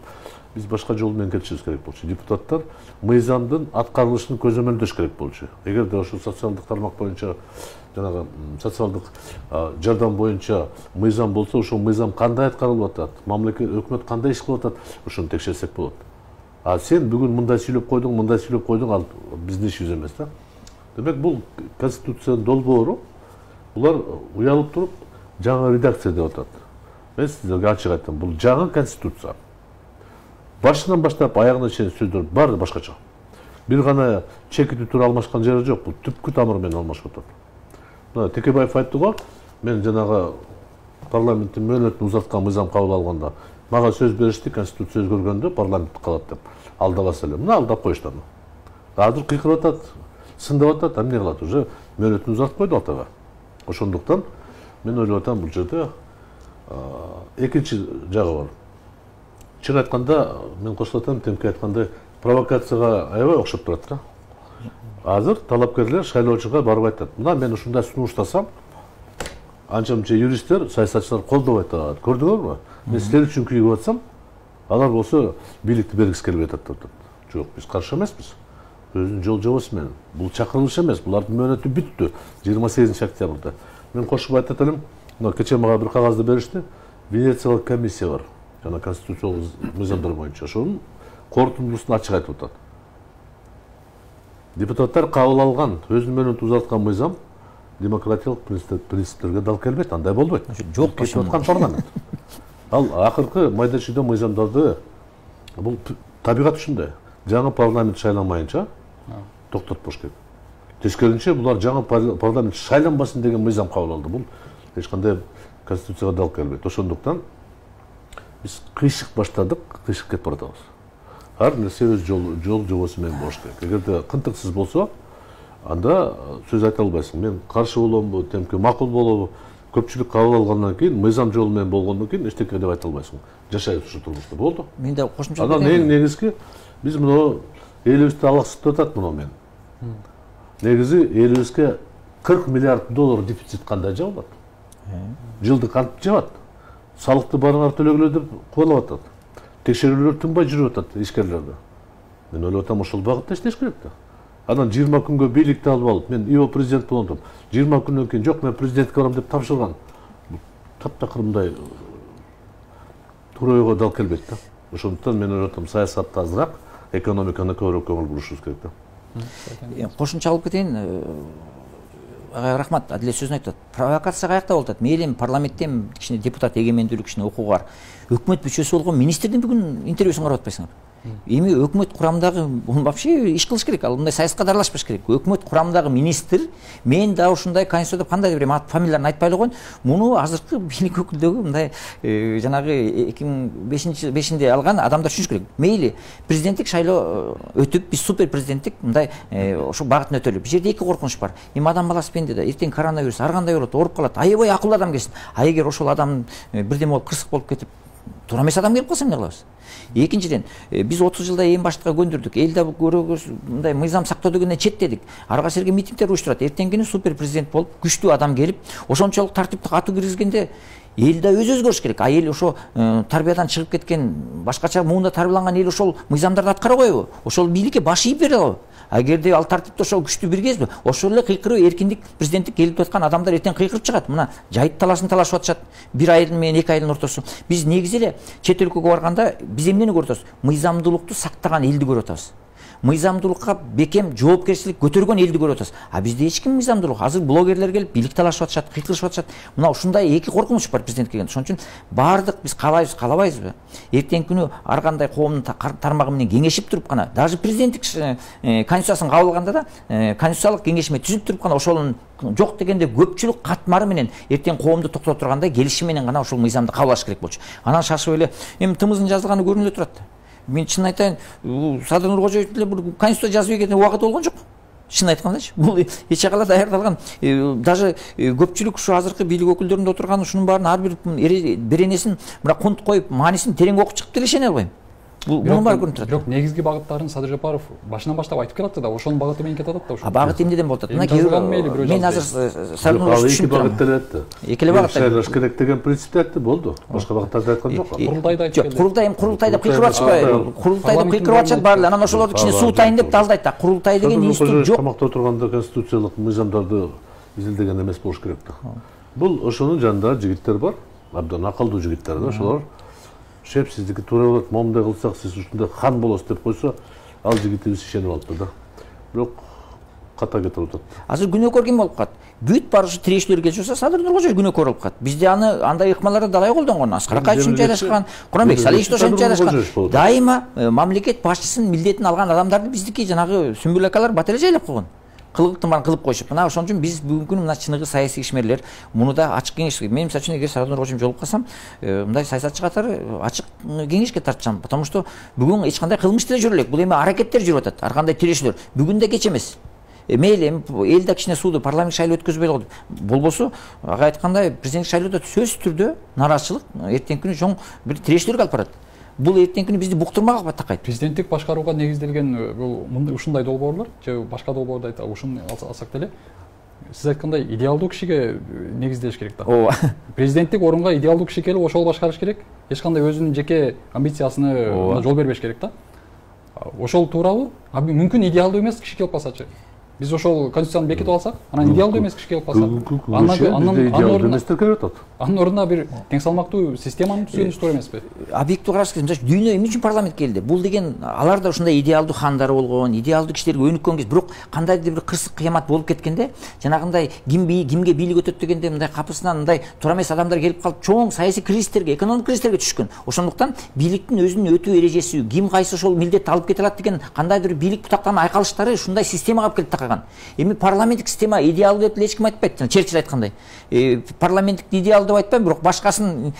биз башка жол менен кетишибиз керек болчу. Депутаттар мыйзамдын аткарылышын көзөмөлдөш керек болчу. Эгерде ошол социалдык тармак боюнча, жанагы социалдык жардам боюнча мыйзам болсо, ошол мыйзам кандай аткарылып атат, мамлекет өкмөт кандай иш кылып атат, ошону текшерсек болот. А сен бүгүн мындай сүйлөп койдуң, мындай сүйлөп койдуң, ал биздин ишибиз эмес да. Демек бул конституциянын долбоору, булар уялып туруп жаңы редакция деп атат. Мен сиздерге ачык айтам, бул жаңы конституция. Башынан баштап аягына чейин сөздөр баары башкача. Бир гана чекити тура алмашкан жери жок, бул түпкү тамыры менен алмашып атат. Мына Текебаев айтты го, мен жанагы парламенттин мөөнөтүн узарткан мыйзам кабыл алганда, мага сөз беришти, конституция өзгөргөндө парламент калат деп. Алдабаса эле. Мына алдап коюшту. Азыр кыйкырып атат, сындап атат, эмне кылат уже? мөөнөтүн узартып койду атага. Ошондуктан мен ойлоп атам бул жерде экинчи жагы бар. Чын айтканда мен кошулуп атам, Темке айткандай провокацияга аябай окшоп турат да. Азыр талапкерлер шайлоочуга барып айтат: "Мына мен ушундай сунуштасам, анча-мынча юристтер, саясатчылар колдоп атат. Көрдүңөрбү? Мен силер үчүн күйүп атсам, алар болсо бийликти бергиси келбей атат" деп. Жок, биз каршы эмеспиз. Өзүнүн жол жобосу менен. Бул чакырылыш эмес, булардын мөөнөтү бүттү жыйырма сегизинчи октябрда. Мен кошуп айтат элем, мына кечээ мага бир кагазды беришти. Венециялык комиссия бар. Жана конституциялык мыйзамдар боюнча ошонун корутундусун ачык айтып атат. Депутаттар кабыл алган, өзүнүн мөөнөтүн узарткан мыйзам демократиялык принциптерге дал келбейт, андай болбойт. Жок кетип аткан парламент. Ал акыркы майда чүйдө мыйзамдарды бул табигат ушундай. Жаңы парламент шайланмайынча токтотпош керек. Тескерисинче булар жаңы парламент шайланбасын деген мыйзам кабыл алды. Бул эч кандай конституцияга дал келбейт. Ошондуктан биз кыйшык баштадык, кыйшык кетип баратабыз. Ар нерсе өз жол жол жобосу менен болуш керек. Эгерде кынтыксыз болсо, анда сөз айта албайсың. Мен каршы боломбу, Темке макул болобу? Көпчүлүк кабыл алгандан кийин, мыйзам жолу менен болгондон кийин эчтеке деп айта албайсың. Жашайбыз ушу турмушта, болду. Мен да кошумча анан эң негизги биз муну элибизди алаксытып атат муну мен. Негизи элибизге кырк миллиард доллар дефицит кандай жабылат? Жылды кантип жабат? Салыкты барыңар төлөгүлөр деп кубалап атат. Текшерүүлөр тынбай жүрүп атат ишкерлерде. Мен ойлоп атам, ошол багытта иштеш керек да. Анан жыйырма күнгө бийликти алып алып, мен ИО президент болдум. жыйырма күндөн кийин жок, мен президентке барам деп тапшырган. Таптакыр мындай туура ойго дал келбейт да. Ошондуктан мен ойлоп атам, саясатта азыраак, экономиканы көбүрөөк көңүл бурушубуз керек да. Кошумча алып кетейин. Ага, рахмат, Адилет сөзүн айтат. Провокация каякта болот? Мейли парламенттен кичине депутат эгемендүүлүк кичине окуу бар. Өкмөт мүчөсү болгон министрдин бүгүн интервьюсун карап атпайсыңар? Эми өкмөт курамындагы вообще иш кылыш керек. Ал мындай саясатка аралашпаш керек. Өкмөт курамындагы министр, мен да ушундай конституцияда кандай деп ат фамилияларын айтпай эле коюн. Муну азыркы бийлик өкүлдөгү мындай жанагы эки миң бешинде алган адамдар түшүнүш керек. Мейли президенттик шайлоо өтүп, биз супер президенттик мындай ошо багытын өтөлү. Бул жерде эки коркунуч бар. Эми адам баласы пенде да, эртең коронавирус ар кандай болот, ооруп калат. Аябай акылдуу адам келсин. А эгер ошол адам бирдеме болуп кырсык болуп кетип, туура эмес адам келип калса эмне кылабыз? Экинчиден, биз отуз жылда эң баштыкка көндүрдүк. Элде көрөгөз мындай мыйзам сактоо дегенде четтедик. Арга серге митингдер уюштурат. Эртеңкини супер президент болуп, күчтүү адам келип, ошончолук тартиптик катуу киргизгенде элде өзү өзгөрүш керек. А эл ошо тарбиядан чыгып кеткен, башкача муунда тарбияланган эл ошол мыйзамдарды аткара койбу? Ошол бийликке баш ийип бере алабы? Эгерде ал тартипти ошол күчтүү биргезби, ошол эле кыйкыруу, эркиндик, президенттик келип аткан адамдар эртең кыйкырып чыгат. Мына жайыт талашын талашып атышат. Бир айдын менен эки айдын ортосу. Биз негизи эле чет өлкөгө барганда биз эмнени көрүп атабыз? Мыйзамдуулукту сактаган элди көрүп атабыз. Мыйзамдуулукка бекем жоопкерчилик көтөргөн элди көрүп атабыз. А бизде эч ким мыйзамдуулук. Азыр блогерлер келип бийлик талашып атышат, кыйкырышып атышат. Мына ушундай эки коркунуч бар президент келгенде. Ошон үчүн баардык биз каалайбыз, каалабайбызбы? Эртеңки күнү ар кандай коомдун тармагы менен кеңешип туруп гана, даже президенттик конституциясын кабыл алганда да, конституциялык кеңешме түзүп туруп гана ошонун жок дегенде көпчүлүк катмары менен эртең коомду токтото тургандай келишим менен гана ошол мыйзамды кабыл алыш керек болчу. Анан шашып эле эми тымыздын жазылганы көрүнүп турат. Мен чын айтайын, Садыр Нуркожоевич деле бир конституция жазып ийген убакыты болгон жок. Чын айткандачы, бул эч кала даярдалган. Даже көпчүлүк ушу азыркы бийлик өкүлдөрүндө отурган ушунун баарын ар бир беренесин мына кунт коюп, маанисин терең окуп чыгып деле ишене албайм. Бул мунун баары көрүнүп турат. Бирок негизги багыттарын Садыр Жапаров башынан баштап айтып келатты да, ошонун багыты менен кетип атат да ошо. А багыт эмнеден болуп атат? Мына мен азыр Садыр Нуркожоевич түшүнүп турам. Эки эле багыт шайлаш керек деген принципти айтты, болду. Башка багыттарды айткан жок. Курултайда айтып келди. Курултай эми курултай деп кыйкырып атышпайбы? Курултай деп кыйкырып атышат баары эле. Анан ошолорду кичине суутайын деп далдайт да. Курултай деген институт жок. Камакта отурганда конституциялык мыйзамдарды изилдеген эмес болуш керек да. Бул ошонун жанында жигиттер бар, абдан акылдуу жигиттер да, ошолор шеп сиздики туура болот, момундай кылсак сиз ушундай хан болосуз деп койсо, ал жигитибиз ишенип алыптыр да. Бирок ката кетип атат. Азыр күнөөкөр ким болуп калат? Бүт баары ушу тирешүүлөр келип жатса, Садыр Нуркожоевич күнөөкөр болуп калат. Бизде аны андай ыкмаларда далай колдонгон. Аскар Акаев ушинче жайгашкан, Куранбек Салиевич ошончо жайгашкан. Дайыма мамлекет башчысынын милдетин алган адамдарды биздики жанагы Сүмбүл акалар бат эле жайлап койгон. Кылыктын баарын кылып коюшуп. Мына ошон үчүн биз бүгүнкү күнү мына чыныгы саясий ишмерлер муну да ачык кеңеш. Мен мисалы үчүн эгер Садыр Нуркожоевич жолугуп калсам, мындай саясатчы катары ачык кеңешке тартчам. Потому что бүгүн эч кандай кылмыш деле жүрө элек. Бул эми аракеттер жүрүп атат, ар кандай тирешүүлөр. Бүгүн да кеч эмес. мейли эл да кичине сууду парламент шайлоо өткөзбөй койду. Болбосо ага айткандай президенттик шайлоодо сөзсүз түрдө нараазычылык эртеңки күнү чоң бир тирешүүлөргө алып барат. Бул эртеңки күнү бизди буктурмага такайт. Президенттик башкарууга негизделген бул ушундай долбоорлор же башка долбоорду айта ушуну алсак деле сиз айткандай идеалдуу кишиге негизделиш керек да. Ооба. Президенттик орунга идеалдуу киши келип ошол башкарыш керек. Эч кандай өзүнүн жеке амбициясына жол бербеш керек да. Ошол туурабы? Мүмкүн идеалдуу эмес киши келип калсачы. Биз ошол конституцияны бекитип алсак, анан идеалдуу эмес киши келип калса, анын ордуна бир тең салмактуу системаны түзүүнүз туура эмеспи? Объективдүү караш керек. Дүйнө эмне үчүн парламентке келди? Бул деген алар да ушундай идеалдуу хандар болгон, идеалдуу кишилерге өнүккөн кез, бирок кандайдыр бир кырсык кыямат болуп кеткенде, жанагындай ким кимге бийлик өтөт дегенде мындай капысынан мындай туура эмес адамдар келип калып, чоң саясий кризистерге, экономик кризистерге түшкөн. Ошондуктан бийликтин өзүнүн өтүү эрежеси, ким кайсы ошол милдетти алып кете алат деген кандайдыр бийлик бутактарынын айкалыштары ушундай системага алып келип такаган. Эми парламенттик система идеалдуу деп эч ким айтпайт. Черчилль айткандай, парламенттик идеал деп айтпайм, бирок башкасын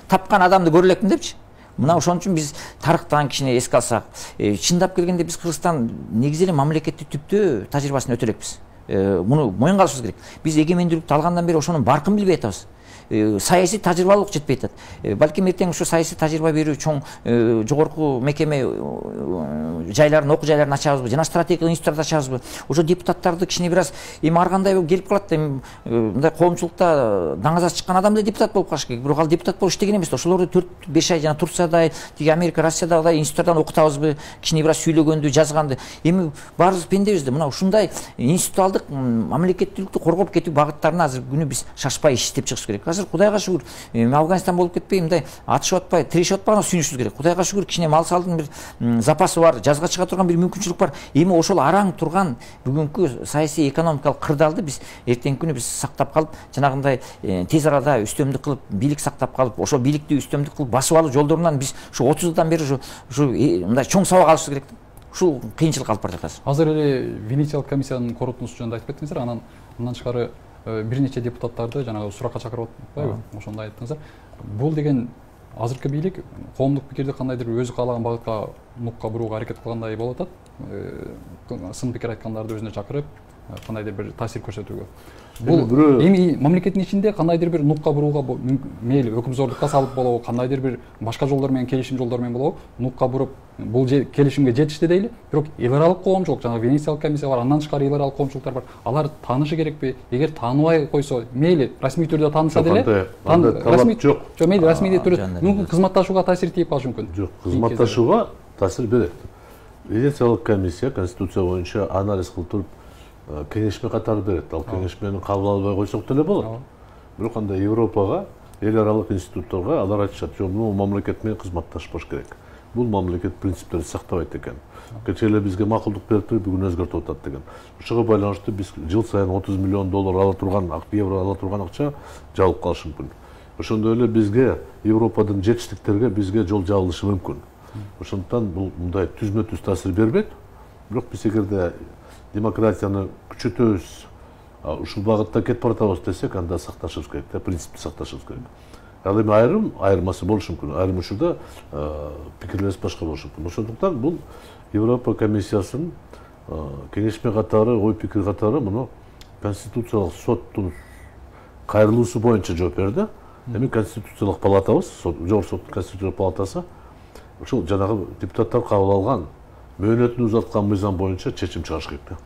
тапкан адамды көрө элекмин депчи. Мына ошон үчүн биз тарыхтан кичине эске алсак, чындап келгенде биз Кыргызстан негизи эле мамлекеттик түптө тажрыйбасын өтө элекпиз. Муну моюнга алышыбыз керек. Биз эгемендүүлүктү алгандан бери ошонун баркын билбей атабыз. Саясий тажрыйбалык жетпей атат. Балким эртең ушу саясий тажрыйба берүү чоң жогорку мекеме жайларын, окуу жайларын ачабызбы, жана стратегиялык институттарды ачабызбы? Ошо депутаттарды кичине бир аз эми ар кандай келип калат, эми мындай коомчулукта даңазасы чыккан адам да депутат болуп калыш керек. Бирок ал депутат болуп иштеген эмес. Ошолорду төрт беш ай жана Турциядай, тиги Америка, Россиядагыдай институттардан окутабызбы, кичине бир аз сүйлөгөндү, жазганды. Эми баарыбыз пендебиз да. Мына ушундай институттуалдык мамлекеттүүлүктү коргоп кетүү багыттарына азыр күнү биз шашпай иштеп чыгыш керек. Кудайга шүгүр, Афганистан болуп кетпей, мындай атышып атпай, тирешип атпаганга сүйүнүшүбүз керек. Кудайга шүгүр, кичине мал салдын бир запасы бар, жазга чыга турган бир мүмкүнчүлүк бар. Эми ошол араң турган бүгүнкү саясий экономикалык кырдаалды биз эртеңки күнү биз сактап калып, жанагындай тез арада үстөмдүк кылып, бийлик сактап калып, ошол бийликти үстөмдүк кылып басып алуу жолдорунан биз ушу отуз жылдан бери ушу мындай чоң сабак алышыбыз керек. Ушул кыйынчылык алып баратат азыр. Азыр эле Венециялык комиссиянын корутундусу жөнүндө айтып кеттиңиздер, анан мындан тышкары бир нече депутаттарды жанагы суракка чакырып атпайбы? Ошондо айттыңыздар. Бул деген азыркы бийлик коомдук пикирди кандайдыр өзү каалаган багытка нукка бурууга аракет кылгандай болуп атат. Сын пикир айткандарды өзүнө чакырып, кандайдыр бир таасир көрсөтүүгө. Бул эми мамлекеттин ичинде кандайдыр бир нукка бурууга мейли өкүмзордукка салып болобу, кандайдыр бир башка жолдор менен, келишим жолдор менен болобу, нукка буруп бул келишимге жетишти дейли. Бирок эл аралык коомчулук, жана Венециялык комиссия бар, андан тышкары эл аралык коомчулуктар бар. Алар таанышы керекпи? Эгер тааныбай койсо, мейли расмий түрдө тааныса деле, расмий жок. Жок, мейли расмий түрдө мүмкүн кызматташууга таасир тийип калышы мүмкүн. Жок, кызматташууга таасир берет. Венециялык комиссия конституция боюнча анализ кылып туруп кеңешме катары берет. Ал кеңешмени кабыл албай койсок деле болот. Бирок андай Европага, эл аралык институтторго алар айтышат, жок, бул мамлекет менен кызматташпаш керек. Бул мамлекет принциптерди сактабайт экен. Кечээ эле бизге макулдук берип туруп бүгүн өзгөртүп атат деген. Ошого байланыштуу биз жыл сайын отуз миллион доллар ала турган, евро ала турган акча жабылып калышы мүмкүн. Ошондой эле бизге Европадын жетиштиктерге бизге жол жабылышы мүмкүн. Ошондуктан бул мындай түзмө-түз таасир бербейт. Бирок биз эгерде демократияны күчөтөбүз, ушул багытта кетип баратабыз десек, анда сакташыбыз керек, принципти сакташыбыз керек. Ал эми айрым айырмасы болушу мүмкүн. Айрым учурда пикирлерибиз башка болушу мүмкүн. Ошондуктан бул Европа комиссиясынын кеңешме катары, ой пикир катары муну конституциялык соттун кайрылуусу боюнча жооп берди. Эми конституциялык палатабыз, жогорку соттун конституциялык палатасы ушул жанагы депутаттар кабыл алган мөөнөтүн узаткан мыйзам боюнча чечим чыгарыш керек.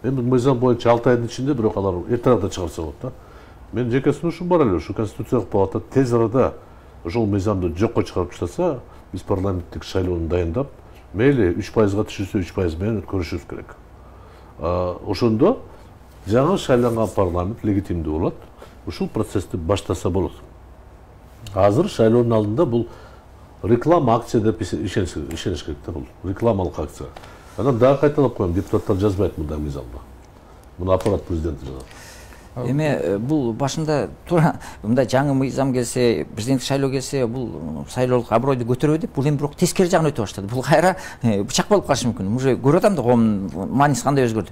Эми мыйзам боюнча алты айдын ичинде, бирок алар эртерээк чыгарса болот да. Мен жеке сунушум бар эле, ушу конституциялык палата тез арада ошол мыйзамды жокко чыгарып таштаса, биз парламенттик шайлоону дайындап, мейли үч пайызга түшүрсө үч пайыз менен өткөрүшүбүз керек. Ошондо жаңы шайланган парламент легитимдүү болот. Ушул процессти баштаса болот. Азыр шайлоонун алдында бул реклама акция деп ишениш керек да, бул рекламалык акция. Анан дагы кайталап коем, депутаттар жазбайт мындай мыйзамда. Муну аппарат президенти жазат. Эми бул башында туура мындай жаңы мыйзам келсе, президенттик шайлоо келсе, бул шайлоолук абройду көтөрөбү деп, бул эми бирок тескери жагына өтө баштады. Бул кайра бычак болуп калышы мүмкүн. Уже көрүп атам да коомдун мааниси кандай өзгөрдү.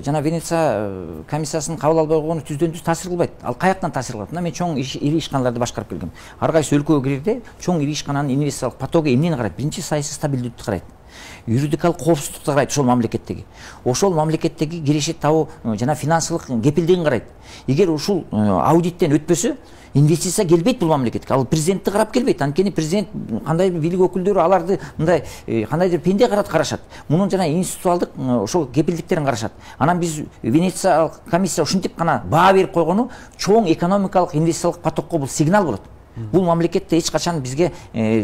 Жана Венеция комиссиясынын кабыл албай койгону түздөн түз таасир кылбайт. Ал каяктан таасир кылат? Мына мен чоң ири ишканаларды башкарып келгем. Ар кайсы өлкөгө кирерде чоң ири ишкананын инвестициялык потогу эмнени карайт? Биринчи саясий стабилдүүлүктү карайт. юридикалык коопсуздукту карайт ошол мамлекеттеги. Ошол мамлекеттеги кирешет табуу жана финансылык кепилдигин карайт. Эгер ушул аудиттен өтпөсө, инвестиция келбейт бул мамлекетке. Ал президентти карап келбейт. Анткени президент кандайдыр бийлик өкүлдөрү аларды мындай кандайдыр пенде карат карашат. Мунун жана институциалдык ошол кепилдиктерин карашат. Анан биз Венециялык комиссия ушинтип гана баа берип койгону чоң экономикалык инвестициялык потокко бул сигнал болот. Бул мамлекетте эч качан бизге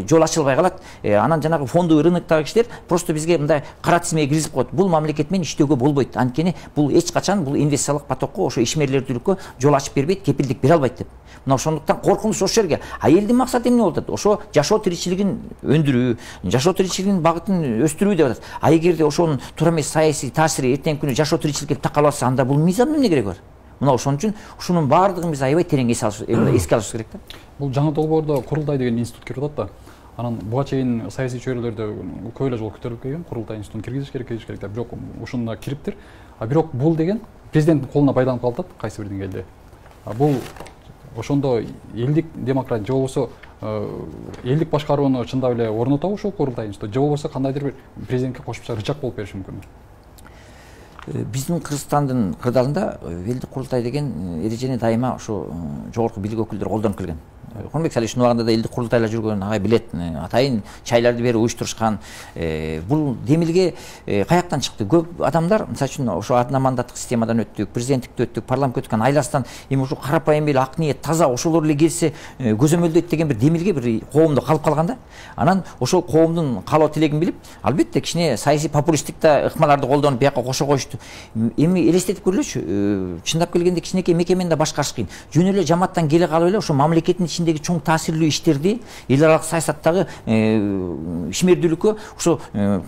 жол ачылбай калат. Анан жанагы фондовый рыноктогу кишилер просто бизге мындай кара тизмеге киргизип коет. Бул мамлекет менен иштөөгө болбойт. Анткени бул эч качан бул инвестициялык потокко, ошо ишмерлердүүлүккө жол ачып бербейт, кепилдик бере албайт деп. Мына ошондуктан коркунуч ошол жерге. А элдин максаты эмне болот? Ошо жашоо тиричилигин өндүрүү, жашоо тиричилигинин багытын өстүрүү деп атат. А эгерде ошонун туура эмес саясий таасири эртеңки күнү жашоо тиричиликке такалып атса, анда бул мыйзамдын эмне кереги бар? Мына ошон үчүн ушунун баардыгын биз аябай терең эске алышыбыз керек да. Бул жаңы долбоордо курултай деген институт кирип атат да. Анан буга чейин саясий чөйрөлөрдө көп эле жолу көтөрүлүп келген, курултай институтун киргизиш керек, киргизиш керек деп. Бирок ушуна кириптир. А бирок бул деген президенттин колуна байланып калат кайсы бир деңгээлде. А бул ошондо элдик демократия же болбосо элдик башкарууну чындап эле орнотобу ушул курултай институт, же болбосо кандайдыр бир президентке кошумча рычаг болуп бериши мүмкүн? Биздин Кыргызстандын кырдаалында элдик курултай деген эрежени дайыма ошо жогорку бийлик өкүлдөрү колдонуп келген. Конбек Салишовдун убагында да элдик курултайлар жүргөн, ага билет, атайын чайларды берип уюштурушкан. Бул демилге каяктан чыкты? Көп адамдар, мисалы үчүн ошо одномандаттык системадан өттүк, президенттикти өттүк, парламентке өткөн айластан эми ушу карапайым эле ак ниет, таза ошолор эле келсе көзөмөлдөйт деген бир демилге бир коомдо калып калган да. Анан ошол коомдун каалоо тилегин билип, албетте кичине саясий популисттик да ыкмаларды колдонуп бияка кошо коюшту. Эми элестетип көрүлөчү, чындап келгенде кичинекей мекемени да башкарыш кыйын. Жөн эле жамааттан келе калып эле ошо мамлекеттин ичиндеги чоң таасирлүү иштерди, эл аралык саясаттагы ишмердүүлүккө ошо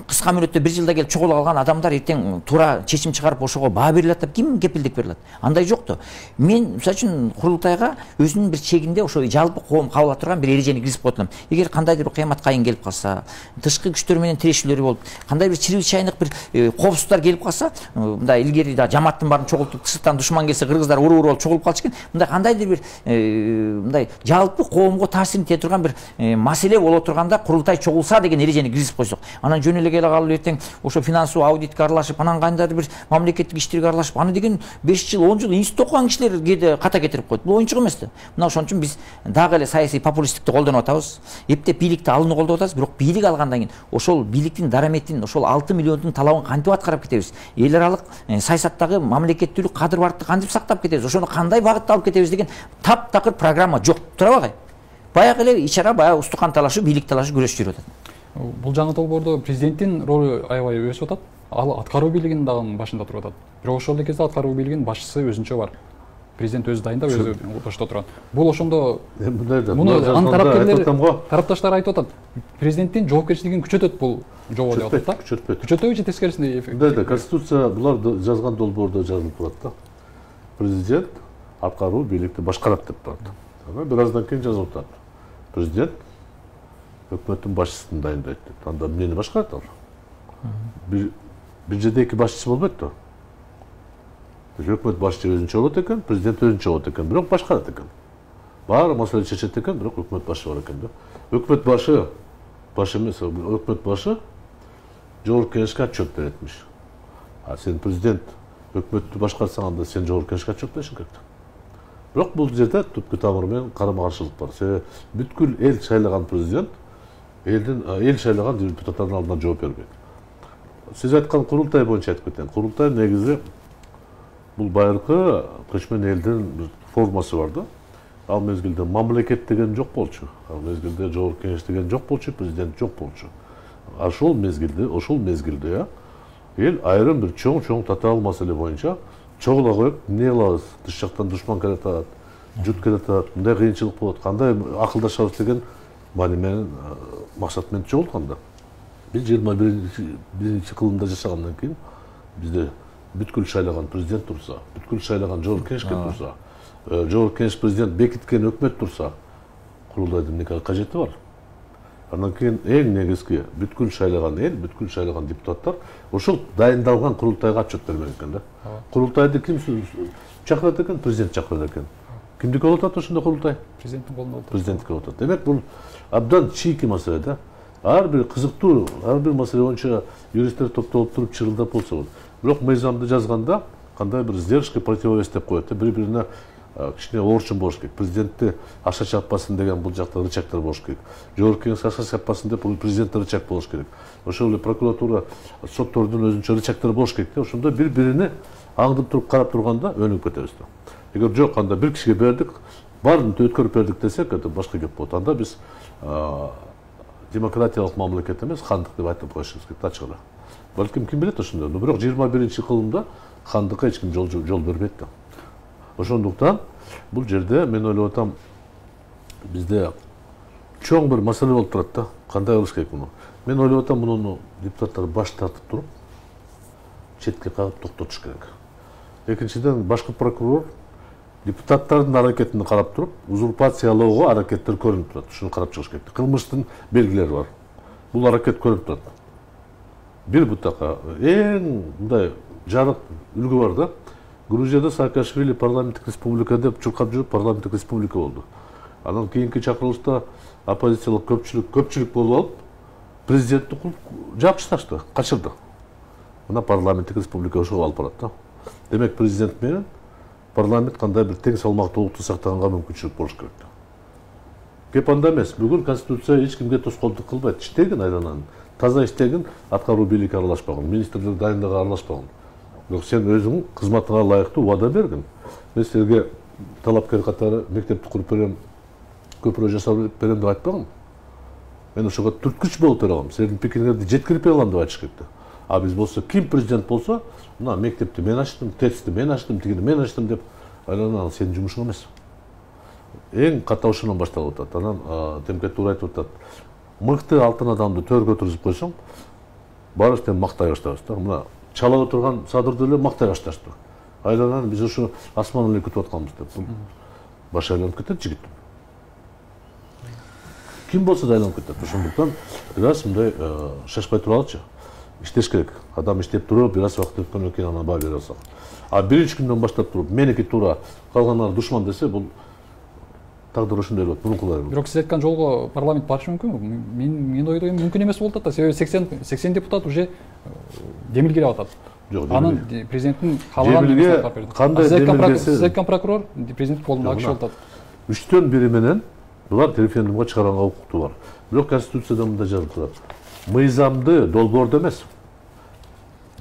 кыска мөөнөттө бир жылда келип чогулуп алган адамдар эртең туура чечим чыгарып ошого баа бере алат деп ким кепилдик бере алат? Андай жок да. Мен мисалы үчүн курултайга өзүнүн бир чегинде ошо жалпы коом кабыл ала турган бир эрежени киргизип коет элем. Эгер кандайдыр бир кыямат кайын келип калса, тышкы күчтөр менен тирешүүлөр болуп, кандай бир чрезвычайдык бир коопсуздуктар келип калса, мындай илгери да жамааттын баарын чогултуп, тышкытан душман келсе кыргыздар уруп уруп болуп чогулуп калчу экен. Мындай кандайдыр бир мындай жалпы коомго таасирин тие турган бир маселе боло турганда курултай чогулса деген эрежени киргизип койсок, анан жөн эле келе калып эртең ошо финансылык аудитке аралашып, анан кандайдыр бир мамлекеттик иштерге аралашып, аны деген беш жыл, он жыл институт окуган кишилер кээде ката кетирип коет. Бул оюнчук эмес да. Мына ошон үчүн биз дагы эле саясий популисттикти колдонуп атабыз. Эптеп бийликти алууну колдоп атабыз, бирок бийлик алгандан кийин ошол бийликтин дараметин, ошол алты миллиондун талабын кантип аткарып кетебиз? Эл аралык саясаттагы мамлекеттүүлүк, кадыр бардыкты кантип сактап кетебиз? Ошону кандай багытта алып кетебиз деген таптакыр программа жок. Турабы? Баягы эле ичара баягы устукан талашы, бийлик талашы күрөшүп жүрүп атат. Бул жаңы долбоордо президенттин ролу аябай өсүп атат. Ал аткаруу бийлигинин дагы башында туруп атат. Бирок ошол эле кезде аткаруу бийлигинин башчысы өзүнчө бар. Президент өзү дайындап, өзү башта турган. Бул ошондо муну анын тарапташтар тарапташтар айтып атат. Президенттин жоопкерчилигин күчөтөт бул жобо деп атат да. Күчөтпөйт. Күчөтөбү же тескерисинде? Мындай Конституция булар жазган долбоордо жазылып турат да. Президент аткаруу бийликти башкарат деп турат. Анан бир аздан кийин жазылып атат. Президент өкмөттүн башчысын дайындайт деп. Анда эмнени башкарат ал? Бир бир жерде эки башчы болбойт да. Өкмөт башчы өзүнчө болот экен, президент өзүнчө болот экен, бирок башкарат экен. Баары маселе чечет экен, бирок өкмөт башы бар экен да. Өкмөт башы баш эмес, өкмөт башы жогорку кеңешке отчет беретмиш. А сен президент өкмөттү башкарсаң, анда сен жогорку кеңешке отчет беришиң керек. Бирок бул жерде түпкү тамыры менен карама-каршылык бар. Себеби бүткүл эл шайлаган президент элдин эл шайлаган депутаттардын алдына жооп бербейт. Сиз айткан курултай боюнча айтып кетейин. Курултай негизи бул байыркы көчмөн элдин бир формасы бар да. Ал мезгилде мамлекет деген жок болчу. Ал мезгилде жогорку кеңеш деген жок болчу, президент жок болчу. Ошол мезгилде, ошол мезгилде эл айрым бир чоң-чоң татаал маселе боюнча чогула коюп, эмне кылабыз? Тыш жактан душман келе атат, жут келе атат, мындай кыйынчылык болот, кандай акылдашабыз деген маани менен максат менен чогулган да. Биз жыйырма биринчи кылымда жашагандан кийин бизде бүткүл шайлаган президент турса, бүткүл шайлаган жогорку кеңешке турса, жогорку кеңеш президент бекиткен өкмөт турса, курултайдын эмне кажети бар? Андан кийин эң негизги бүткүл шайлаган эл, бүткүл шайлаган депутаттар ошол дайындалган курултайга отчет бермек экен да. Курултайды ким чакырат экен? Президент чакырат экен. Кимдики болуп атат ошондо курултай? Президенттин колунда болот. Президенттики болуп атат. Демек бул абдан чийки маселе да. ар бир кызыктуу, ар бир маселе боюнча юристтер топтолуп туруп чырылдап болсо болот. Бирок мыйзамды жазганда кандай бир сдержка, противовес деп коет, бири бирине кичине орчун болуш керек. Президентти аша чаппасын деген бул жакта рычагдар болуш керек. Жогорку кеңеш аша чаппасын деп бул президент рычаг болуш керек. Ошол эле прокуратура, соттордун өзүнчө рычагдары болуш керек. Ошондо бири бирине аңдып туруп карап турганда өнүгүп кетебиз да. Эгер жок, анда бир кишиге бердик, баарын өткөрүп бердик десек, это башка кеп болот. Анда биз демократиялык мамлекет эмес, хандык деп айтып коюшубуз керек, ачык эле. Балким ким билет ошондой. Бирок жыйырма биринчи кылымда хандыкка эч ким жол жол бербейт да. Ошондуктан бул жерде мен ойлоп атам, бизде чоң бир маселе болуп турат да. Кандай кылыш керек муну? Мен ойлоп атам, муну депутаттар баш тартып туруп, четке кагып токтотуш керек. Экинчиден, башкы прокурор депутаттардын аракетин карап туруп, узурпациялоого аракеттер көрүнүп турат. Ушуну карап чыгыш керек. Кылмыштын белгилери бар. Бул аракет көрүнүп турат. Бир бутакка эң мындай жарык үлгү бар да. Грузияда Саакашвили парламенттик республика деп чуркап жүрүп, парламенттик республика болду. Анан кийинки чакырылышта оппозициялык көпчүлүк көпчүлүк болуп алып, президентти жапып таштады, качырды. Мына парламенттик республика ошого алып барат да. Демек президент менен парламент кандай бир тең салмактуулукту сактаганга мүмкүнчүлүк болуш керек да. Кеп анда эмес. Бүгүн конституция эч кимге тоскоолдук кылбайт. Иштегин айланан, таза иштегин, аткаруу бийликке аралашпагын, министрлик дайындыгы аралашпагын. Бирок сен өзүң кызматыңа ылайыктуу убада бергин. Мен силерге талапкер катары мектепти куруп берем, көпүрө жасап берем деп айтпагам. Мен ошого түрткүч болуп бере алам. Силердин пикириңерди жеткирип бере алам деп айтыш керек да. А биз болсо, ким президент болсо, мына мектепти мен ачтым, тестти мен ачтым, тигини мен ачтым деп айланан сенин жумушуң эмес. Эң катуу ошондон башталып атат. Анан Темке туура айтып атат. Мыкты алтын адамды төргө отургузуп койсоң, баарыбыз тең мактай баштайбыз да. Мына чала отурган садырды эле мактай башташты. Айланан биз ошо асман эле күтүп атканбыз деп. Баш айланып кетет жигит. Ким болсо да айланып кетет. Ошондуктан бир аз мындай шашпай туралычы. Иштеш керек. Адам иштеп туруп, бир аз убакыт өткөндөн кийин анан баа бере алсак. А биринчи күндөн баштап туруп, меники туура, калгандар душман десе, бул тагдыр ошондой болот. Мурункулар. Бирок сиз айткан жолго парламент барышы мүмкүнбү? Мен мен ойдойм, мүмкүн эмес болуп атат да. Себеби сексен сексен депутат уже демилгелеп атат. Жок, анын президенттин каалаган кандай демилгеси? Сиз айткан прокурор президент колунда киши болуп атат. Үчтөн бири менен булар референдумга чыгарганга укуктуу бар. Бирок конституцияда мындай жазылып турат. Мыйзамды долбоордо эмес.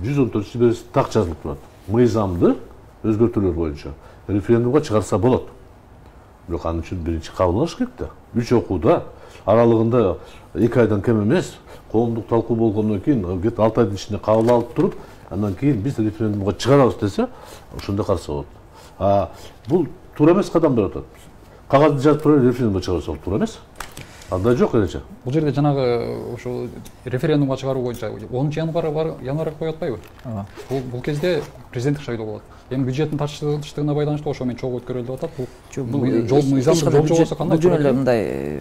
жүз он төртүнчү биринчи так жазылып турат. Мыйзамды өзгөртүүлөр боюнча референдумга чыгарса болот. Бирок анын үчүн биринчи кабылыш керек да. Үч окууда аралыгында эки айдан кем эмес, коомдук талкуу болгондон кийин алты айдын ичинде кабыл алып туруп, андан кийин биз референдумга чыгарабыз десе, ошондо карса болот. А бул туура эмес кадам берип атат. Кагазды жазып туруп референдумга чыгарса болот, туура эмес? Андай жок элечи. Бул жерде жанагы ошо референдумга чыгаруу боюнча онунчу январга январга коюп атпайбы? Бул бул кезде президенттик шайлоо болот. Эми бюджеттин тартыштыгына байланыштуу ошо менен чогуу өткөрүлүп атат. Бул жол мыйзамды жол жобосу кандай? Бул жөн эле мындай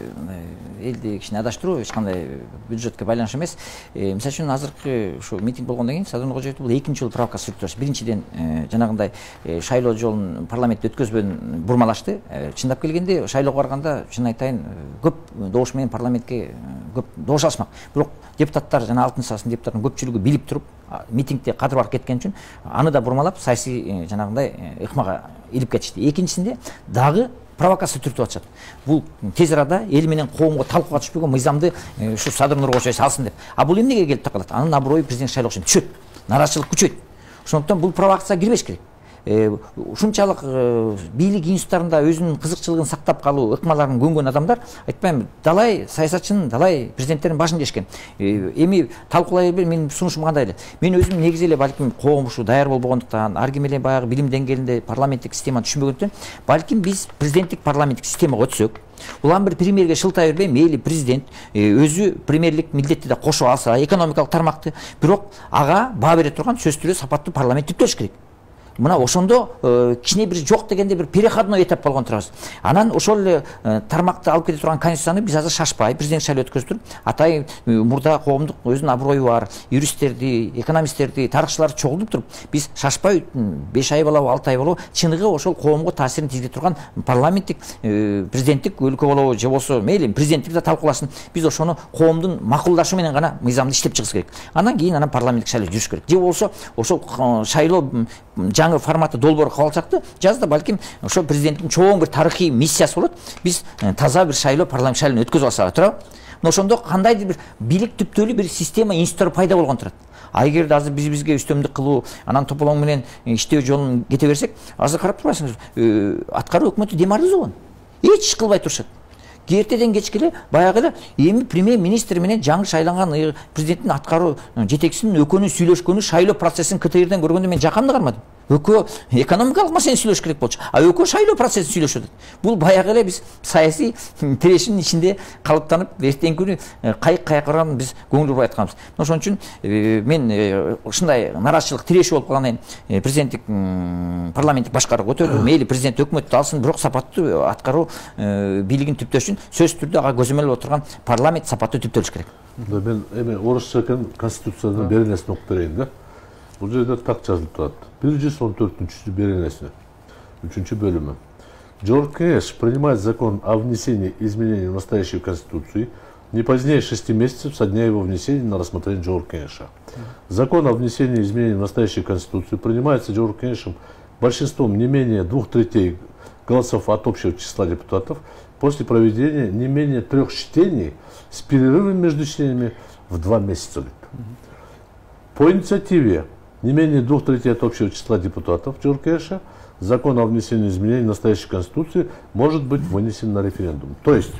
элди кичине адаштыруу, эч кандай бюджетке байланыш эмес. Мисалы үчүн азыркы ушу митинг болгондон кийин Садыр Нуркожоевди бул экинчи жолу провокация сүрүп турат. Биринчиден жанагындай шайлоо жолун парламентте өткөзбөдөн бурмалашты. Чындап келгенде шайлоого барганда чын айтайын көп добуш менен парламентке көп добуш алышмак. Бирок депутаттар жана алтын сасын депутаттын көпчүлүгү билип туруп митингде кадыр барып кеткен үчүн аны да бурмалап саясий жанагындай ыкмага илип кетишти. Экинчисинде дагы провокация түртүп атышат. Бул тез арада эл менен коомго талкууга түшпөгөн мыйзамды ушу Садыр Нуркожоев салсын деп. А бул эмнеге келип такалат? Анын аброю президент шайлоосун түшөт. Нараачылык күчөйт. Ошондуктан бул провокацияга кирбеш керек. Ушунчалык бийлик институттарында өзүнүн кызыкчылыгын сактап калуу ыкмаларын көнгөн адамдар, айтпайм, далай саясатчынын, далай президенттердин башын жешкен. Эми талкуулай бербей, менин сунушум кандай эле. Мен өзүм негизи эле балким коом ушу даяр болбогондуктан, ар ким эле баягы билим деңгээлинде парламенттик системаны түшүнбөгөндүктөн, балким биз президенттик парламенттик системага өтсөк, улам бир премьерге шылтай бербей, мейли президент өзү премьерлик милдетти да кошо алса, экономикалык тармакты, бирок ага баа бере турган сөзсүз сапаттуу парламент түптөш керек. мына ошондо кичине бир жок дегенде бир переходной этап болгон турабыз. Анан ошол эле тармакты алып кете турган конституцияны биз азыр шашпай президент шайлоо өткөзүп туруп, атай мурда коомдук өзүнүн аброю бар юристтерди, экономисттерди, тарыхчыларды чогултуп туруп, биз шашпай беш ай болобу, алты ай болобу, чыныгы ошол коомго таасирин тийгизе турган парламенттик, президенттик өлкө болобу же болсо мейли президенттик да талкууласын. Биз ошону коомдун макулдашы менен гана мыйзамды иштеп чыгыш керек. Андан кийин анан парламенттик шайлоо жүрүш керек. Же болсо ошол шайлоо жаңы форматы долбоор кабыл алсакты, жазда балким ошо президенттин чоң бир тарыхый миссиясы болот. Биз таза бир шайлоо, парламент шайлоону өткөзүп алсак туурабы? Мына ошондо кандайдыр бир бийлик түптөлүү бир система, институттар пайда болгон турат. А эгерде азыр биз бизге үстөмдүк кылуу, анан тополоң менен иштөө жолун кете берсек, азыр карап турасыңыз, аткаруу өкмөтү дем арыз болгон. Эч иш кылбай турушат. Кертеден кечке эле баягы эле эми премьер-министр менен жаңы шайланган президенттин аткаруу жетекчисинин экөөнүн сүйлөшкөнү шайлоо процессин КТРден көргөндө мен жакамды кармадым. Экөө экономикалык маселени сүйлөш керек болчу, а экөө шайлоо процессин сүйлөшүп атат. Бул баягы эле биз саясий тирешинин ичинде калыптанып, эртеңки күнү кайык каяка барганын биз көңүл бурбай атканбыз. Ошон үчүн мен ушундай нараазычылык тиреши болуп калгандан кийин президенттик парламенттик башкаруу көтөрүлүп, мейли президент өкмөттү алсын, бирок сапаттуу аткаруу бийлигин түптөш үчүн сөзсүз түрдө ага көзөмөл болуп турган парламент сапаттуу түптөлүш керек. Мен эми орусча экен конституциянын беренесин окуп берейин да. Бул жерде так жазылып турат. бир жүз он төртүнчү беренеси, үчүнчү бөлүмү. Жогорку кеңеш принимает закон о внесении изменений в настоящую конституцию не позднее шести месяцев со дня его внесения на рассмотрение Жогорку кеңеша. Закон о внесении изменений в настоящую конституцию принимается Жогорку кеңешем большинством не менее двух третей голосов от общего числа депутатов после проведения не менее трех чтений с перерывом между чтениями в два месяца. По инициативе не менее двух третей от общего числа депутатов Жогорку кеңеша закон о внесении изменений в настоящей конституции может быть вынесен на референдум. То есть,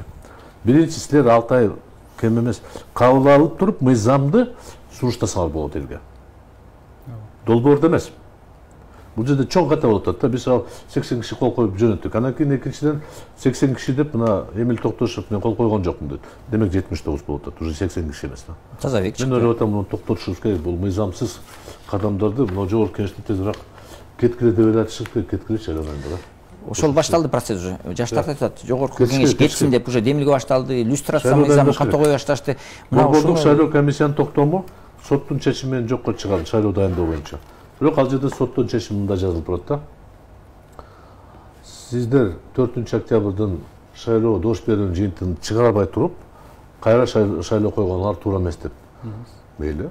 биринчи силер алты ай кем эмес кабыл алып туруп мыйзамды суруштасаңар болот элге. Долбоордо эмес. Бул жерде чоң ката болуп атат да. Биз ал сексен киши кол коюп жөнөттүк. Анан кийин экинчиден сексен киши деп мына Эмил Токтошев мен кол койгон жокмун дейт. Демек жетимиш тогуз болуп атат. Уже сексен киши эмес да. Таза бек чыкты. Мен ойлоп атам, муну токтотушубуз керек. Бул мыйзамсыз кадамдарды мына Жогорку кеңештин тезирээк кеткиле деп элатышып кеткилечи анан да. Ошол башталды процесс уже. Жаштар айтат, Жогорку кеңеш кетсин деп уже демилге башталды, иллюстрация мыйзамын ката кое башташты. Борбордук шайлоо комиссиянын токтому соттун чечими менен жокко чыгарды шайлоо дайындоо боюнча. Бирок ал жерде соттун чечими мында жазылып турат да. Сиздер төртүнчү октябрдын шайлоо дош берүүнүн жыйынтыгын чыгарбай туруп, кайра шайлоо койгонуңар туура эмес деп. Мейли.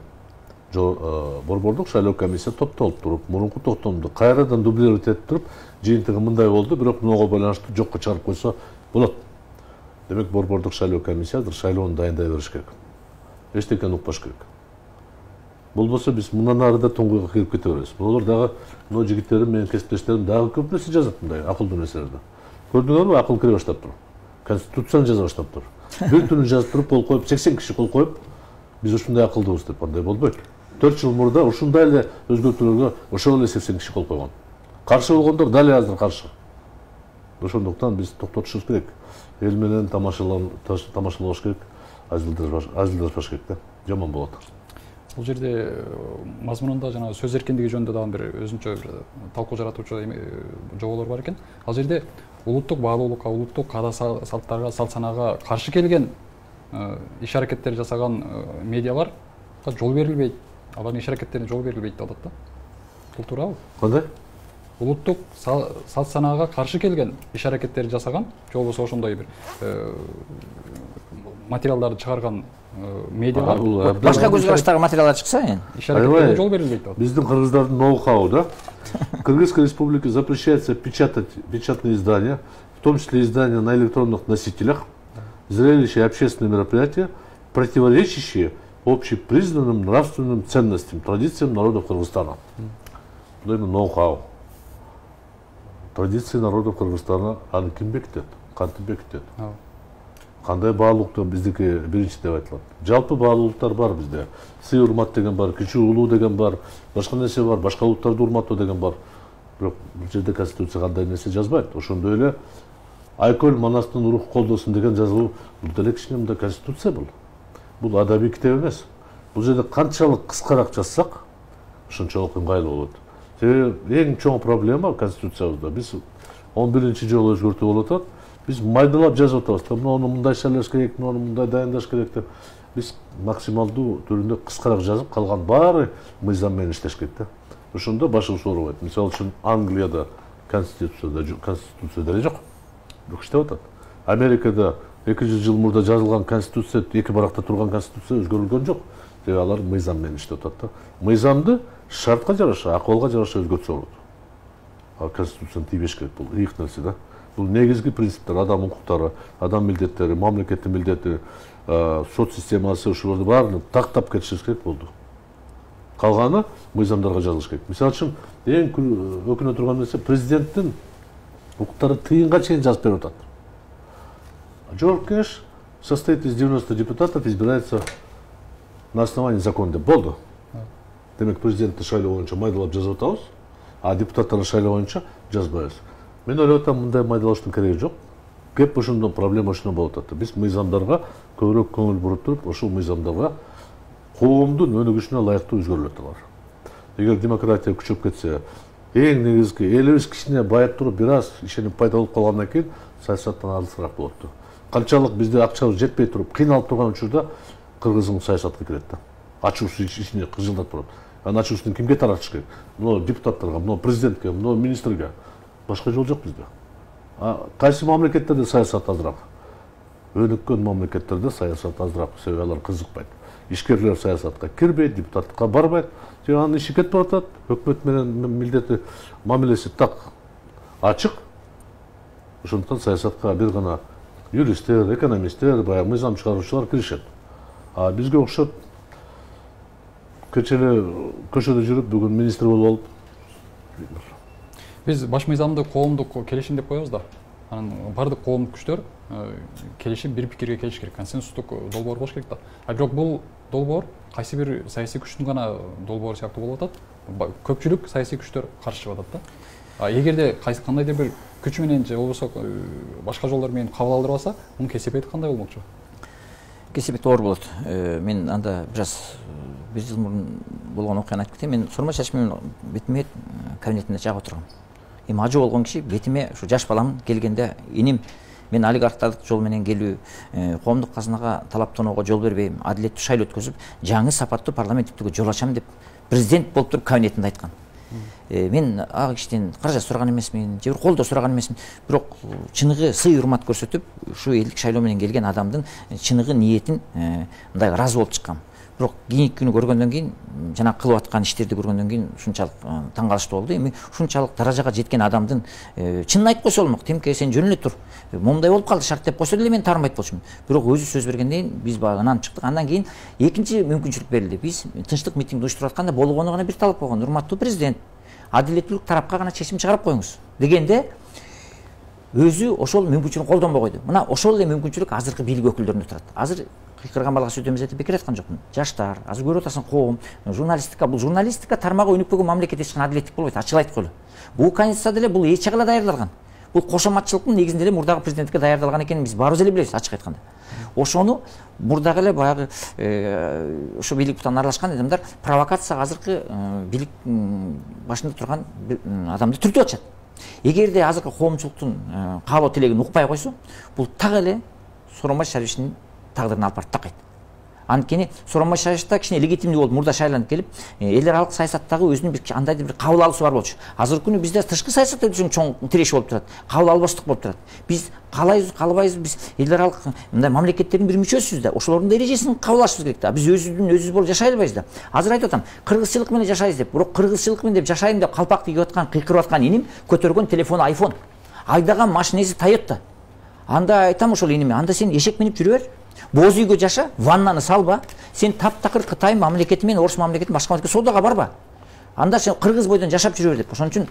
Борбордук шайлоо комиссия топтолуп туруп, мурунку токтомду кайрадан дублировать этип туруп, жыйынтыгы мындай болду, бирок мунуга байланыштуу жокко чыгарып койсо болот. Демек борбордук шайлоо комиссия азыр шайлоону дайындай бериш керек. Эчтекени укпаш керек. Болбосо биз мындан ары да туңгуйга кирип кете беребиз. Булар дагы мына жигиттерим, менин кесиптештерим дагы көп нерсе жазат мындай акылдуу нерселерди. Көрдүңөрбү, акыл кире баштаптыр. Конституцияны жаза баштаптыр. Бир түнү жазып туруп кол коюп, сексен киши кол коюп, биз ушундай акылдуубуз деп андай болбойт. төрт жыл мурда ушундай эле өзгөртүүлөргө ошол эле сексен киши кол койгон. Каршы болгондор дали азыр каршы. Ошондуктан биз токтотушубуз керек. Эл менен тамашалаш керек, азилдашпаш керек да. Жаман болот. Бул жерде мазмунунда жана сөз эркиндиги жөнүндө дагы бир өзүнчө бир талкуу жаратуучу жоболор бар экен. Ал жерде улуттук баалуулукка, улуттук каада салттарга, салт санаага каршы келген иш аракеттер жасаган медиалар жол берилбейт. Алардын иш аракеттерине жол берилбейт деп атат да. Бул туурабы? Кандай? Улуттук салт санаага каршы келген иш аракеттерди жасаган, же болбосо ошондой бир материалдарды чыгарган медиалар башка көз караштагы материалдар чыкса, эми иш аракеттерине жол берилбейт деп атат. Биздин кыргыздардын ноу-хау да. Кыргызской республике запрещается печатать печатные издания, в том числе издания на электронных носителях, зрелища и общественные мероприятия, противоречащие общепризнанным нравственным ценностям, традициям народов Кыргызстана. Бул эми ноу-хау. Традиции народов Кыргызстана аны ким бекитет? Кантип бекитет? Кандай баалуулукту биздики биринчи деп айтылат. Жалпы баалуулуктар бар бизде. Сый урмат деген бар, кичүү улуу деген бар, башка нерсе бар, башка улуттарды урматтоо деген бар. Бирок бул жерде конституция кандай нерсе жазбайт. Ошондой эле Айкөл Манастын рух колдосун деген жазылуу бул деле кичине мындай конституция бул. Бул адабий китеп эмес. Бул жерде канчалык кыскараак жазсак, ошончолук ыңгайлуу болот. Себеби эң чоң проблема конституциябызда биз он биринчи жолу өзгөртүү болуп атат. Биз майдалап жазып атабыз. Муну мындай шайлаш керек, муну мындай дайындаш керек деп. Биз максималдуу түрүндө кыскараак жазып, калган баары мыйзам менен иштеш керек да. Ошондо башыбыз оорубайт. Мисалы үчүн Англияда конституцияда конституция деле жок. Бирок иштеп атат. Америкада эки жүз жыл мурда жазылган конституция, эки баракта турган конституция өзгөрүлгөн жок. Себеби алар мыйзам менен иштеп атат да. Мыйзамды шартка жараша, акыбалга жараша өзгөртсө болот. А конституцияны тийбеш керек, бул ыйык нерсе да. Бул негизги принциптер, адам укуктары, адам милдеттери, мамлекеттин милдети, сот системасы, ушуларды баарын тактап кетишибиз керек болду. Калганы мыйзамдарга жазылыш керек. Мисалы үчүн эң өкүнө турган нерсе президенттин укуктары тыйынга чейин жазып берип атат. Жогорку кеңеш состоит из девяноста депутатов, избирается на основании закона деп болду. Демек президентти шайлоо боюнча майдалап жазып атабыз, а депутаттарды шайлоо боюнча жазбайбыз. Мен ойлоп атам, мындай майдалаштын кереги жок. Кеп ошондо проблема ошондо болуп атат. Биз мыйзамдарга көбүрөөк көңүл буруп туруп, ошол мыйзамдарга коомдун өнүгүшүнө ылайыктуу өзгөрүлөт алар. Эгер демократия күчөп кетсе, эң негизги элибиз кичине байып туруп, бир аз ишенип пайда болуп калгандан кийин саясаттан алысыраак болот. Канчалык бизде акчабыз жетпей туруп, кыйналып турган учурда кыргызың саясатка кирет да. Ачуусу ичине кыжылдап турат. Анын ачуусун кимге таратыш керек? Мына депутаттарга, мына президентке, мына министрге. Башка жол жок бизде. А кайсы мамлекеттерде саясат азыраак? Өнүккөн мамлекеттерде саясат азыраак, себеби алар кызыкпайт. Ишкерлер саясатка кирбейт, депутаттыкка барбайт. Же анын иши кетип атат. Өкмөт менен милдети мамилеси так ачык. Ошондуктан саясатка бир гана юристтер, экономисттер, баягы мыйзам чыгаруучулар киришет. А бизге окшоп кечээ көчөдө жүрүп, бүгүн министр болуп алып. Биз баш мыйзамды коомдук келишим деп коебуз да. Анан бардык коомдук күчтөр келишим, бир пикирге келиш керек, консенсустук долбоор болуш керек да. А бирок бул долбоор кайсы бир саясий күчтүн гана долбоору сыяктуу болуп атат. Көпчүлүк саясий күчтөр каршы чыгып атат да. А эгерде кандайдыр бир күч менен же болбосо башка жолдор менен кабыл алдырбаса, мунун кесепети кандай болмокчу? Кесепети оор болот. Мен анда бир аз бир жыл мурун болгон окуяны айтып кетейин. Мен сурма чач менен бетиме кабинетинде жагып отургам. Эми ажы болгон киши бетиме ушу жаш балам келгенде, иним мен олигархтардык жол менен келүү, коомдук казынага талаптоонууга жол бербейм, адилеттүү шайлоо өткөзүп, жаңы сапаттуу парламенттиктүүгө жол ачам деп президент болуп туруп кабинетинде айткан. Мен ага кишиден каражат сураган эмесмин, же бир колдоо сураган эмесмин, бирок чыныгы сый урмат көрсөтүп, ушу элдик шайлоо менен келген адамдын чыныгы ниетин мындай ыраазы болуп чыккам. Бирок кийинки күнү көргөндөн кийин, жана кылып аткан иштерди көргөндөн кийин ушунчалык таң калыштуу болду. Эми ушунчалык даражага жеткен адамдын чынын айтып койсо болмок. Тимке сен жөн эле тур. Момундай болуп калды шарт деп койсо деле мен таарынбайт болчумун. Бирок өзү сөз бергенден кийин биз багынан чыктык. Андан кийин экинчи мүмкүнчүлүк берилди. Биз тынчтык митинг уюштуруп атканда болгону гана бир талап койгон. Урматтуу президент, адилеттүүлүк тарапка гана чечим чыгарып коюңуз дегенде өзү ошол мүмкүнчүлүкүн колдонбой койду. Мына ошол эле мүмкүнчүлүк азыркы бийлик өкүлдөрүндө турат. Азыр кыйкырган балга сөз демес деп бекер айткан жокмун. Жаштар, азыр көрүп атасың коом, журналистика, бул журналистика тармагы өнүкпөгөн мамлекет эч кандай адилеттик болбойт, ачык айтып коелу. Бул конституция деле бул эч жагыла даярдалган. Бул кошоматчылыктын негизинде эле мурдагы президентке даярдалган экенин биз баарыбыз эле билебиз, ачык айтканда. Ошону мурдагы эле баягы ошо бийлик бутан аралашкан адамдар провокацияга азыркы бийлик башында турган адамды түртүп атышат. Эгерде азыркы коомчулуктун каалоо тилегин укпай койсо, бул так эле Сооронбай Шариповичтин тагдырын алып барып такайт. Анткени Сооронбай Шарипович да кичине легитимдүү болуп мурда шайланып келип, эл аралык саясаттагы өзүнүн бир андайдыр бир кабыл алуусу бар болчу. Азыркы күнү бизде тышкы саясатта үчүн чоң тиреши болуп турат. Кабыл албастык болуп турат. Биз калайбыз, калбайбыз, биз эл аралык мындай мамлекеттердин бир мүчөсүбүз да. Ошолордун эрежесин кабыл алышыбыз керек да. Биз өзүбүздүн өзүбүз болуп жашай албайбыз да. Азыр айтып атам, кыргызчылык менен жашайбыз деп. Бирок кыргызчылык менен деп жашайм деп калпак кийип аткан, кыйкырып аткан иним көтөргөн телефону айфон, айдаган машинеси Toyota. Анда айтам ошол иниме, анда сен эшек минип жүрө бер. Боз үйгө жаша, ваннаны салба. Сен таптакыр Кытай мамлекети менен Орус мамлекети башка мамлекетке соодага барба. Анда сен кыргыз бойдон жашап жүрө бер деп. Ошон үчүн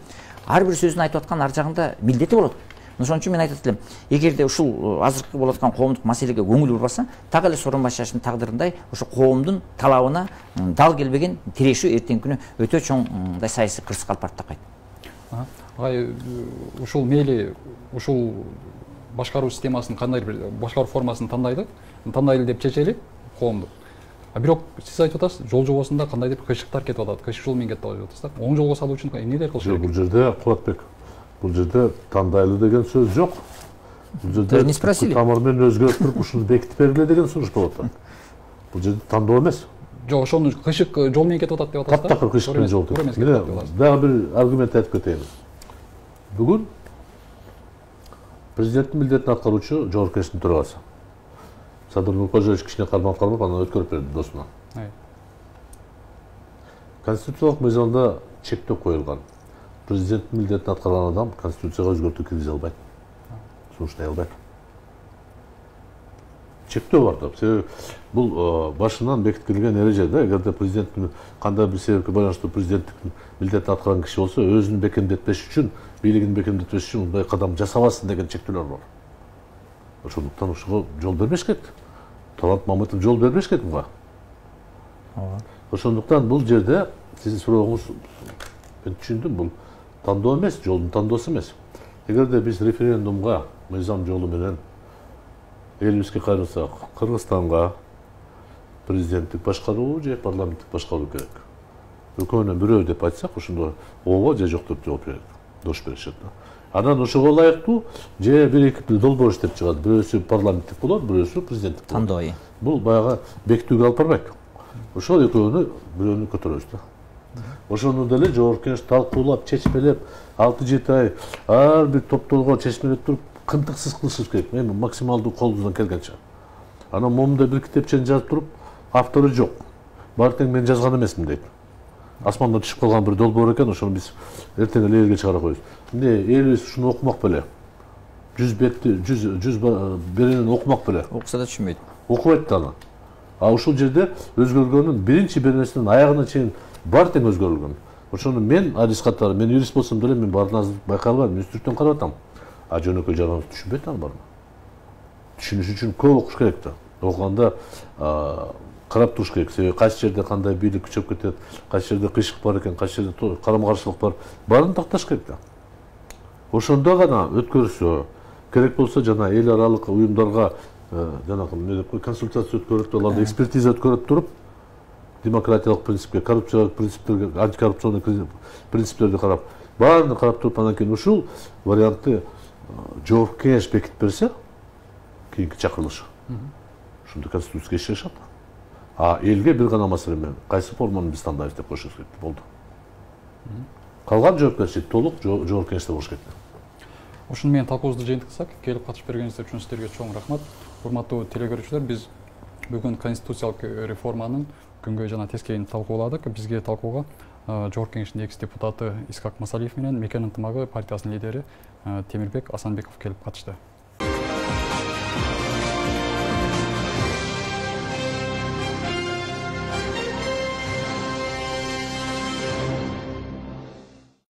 ар бир сөзүн айтып аткан ар жагында милдети болот. Ошон үчүн мен айтат элем, эгерде ушул азыркы болуп аткан коомдук маселеге көңүл бурбаса, так эле Сооронбай Шариповичтин тагдырындай ошо коомдун талабына дал келбеген тирешүү эртеңки күнү өтө чоң мындай саясий кырсыкка алып барып такайт. Агай, ушул мейли ушул башкаруу системасын кандай бир башкаруу формасын тандайды, тандайлы деп чечели коомду. А бирок сиз айтып атасыз, жол жобосунда кандайдыр кыйшыктар кетип атат, кыйшык жол менен кетип атат атасыз да. Оң жолго салуу үчүн эмнелер кылыш керек? Бул жерде Кубатбек, бул жерде тандайлы деген сөз жок. Бул жерде не спросили. тамыр менен өзгөрүп туруп ушуну бекитип бергиле деген сунуш болуп атат. Бул жерде тандоо эмес. Жок, ошону кыйшык жол менен кетип атат деп атасыз да. Таптакыр кыйшык менен жол. Мына дагы бир аргумент айтып кетейин. Бүгүн президенттин милдетин аткаруучу Жогорку Кеңештин төрагасы Садыр Нуркожоевич кичине кармап кармап анан өткөрүп берди досуна. Конституциялык мыйзамда чектөө коюлган. Президенттин милдетин аткарган адам конституцияга өзгөртүү киргизе албайт. Сунуштай албайт. Чектөө бар да. Себеби бул башынан бекитилген эреже да. Эгерде президенттин кандай бир себепке байланыштуу президенттик милдетин аткарган киши болсо, өзүн бекемдетпеш үчүн, бийлигин бекемдетпеш үчүн мындай кадам жасабасын деген чектөөлөр бар. Ошондуктан ушуга жол бербеш керек. Талант Мамытов жол бербеш керек буга. Ошондуктан бул жерде сиздин сурооңуз мен түшүндүм, бул тандоо эмес, жолдун тандоосу эмес. Эгерде биз референдумга мыйзам жолу менен элибизге кайрылсак, Кыргызстанга президенттик башкаруу же парламенттик башкаруу керек. Экөөнүн бирөө деп айтсак, ошондо ооба же жок деп жооп берет. Дош беришет да. Анан ошого ылайыктуу же бир-эки долбоор иштеп чыгат. Бирөөсү парламенттик болот, бирөөсү президенттик болот. Тандоо. Бул баягы бекитүүгө алып барбайт. Ошол экөөнү бирөөнү көтөрөбүз да. Ошону деле Жогорку Кеңеш талкуулап, чечмелеп, алты жети ай ар бир топтолго чечмелеп туруп, кынтыксыз кылышыбыз керек. Эми максималдуу колубуздан келгенче. Анан момундай бир китепчени жазып туруп, автору жок. Баары тең мен жазган эмесмин дейт. Асмандан түшүп калган бир долбоор экен, ошону биз эртең эле элге чыгара коебуз. Эмне элибиз ушуну окумак беле? жүз бетти, жүз жүз беренени окумак беле? Окуса да түшүнбөйт. Окубайт да аны. А ушул жерде өзгөргөнүн биринчи беренесинен аягына чейин баары тең өзгөрүлгөн. Ошону мен адис катары, мен юрист болсом деле мен баарына байкай албайм, үстүртөн карап атам. А жөнөкөй жараныбыз түшүнбөйт аны баарын. Түшүнүш үчүн көп окуш керек да. Окуганда карап туруш керек. Себеби кайсы жерде кандай бийлик күчөп кетет, кайсы жерде кыйшык бар экен, кайсы жерде карама каршылык бар, баарын такташ керек да. Ошондо гана өткөрсө, керек болсо жана эл аралык уюмдарга жанагы эмне деп консультация өткөрүп, аларды экспертиза өткөрүп туруп, демократиялык принципке, коррупциялык принциптерге, антикоррупционный принциптерди карап, баарын карап туруп, анан кийин ушул вариантты Жогорку Кеңеш бекитип берсе, кийинки чакырылыш. Ошондо конституцияга иш жашат. А элге бир гана маселе менен кайсы форманы биз тандайбыз деп коюшубуз керек болду. Калган жоопкерчилик толук Жогорку Кеңеште болуш керек. Ушуну менен талкуубузду жыйынтыксак, келип катышып бергениңиздер үчүн сиздерге чоң рахмат. Урматтуу телегөрүүчүлөр, биз бүгүн конституциялык реформанын күнгөй жана тескейин талкууладык. Бизге талкууга Жогорку Кеңештин экс депутаты Искак Масалиев менен Мекен ынтымагы партиясынын лидери Темирбек Асанбеков келип катышты.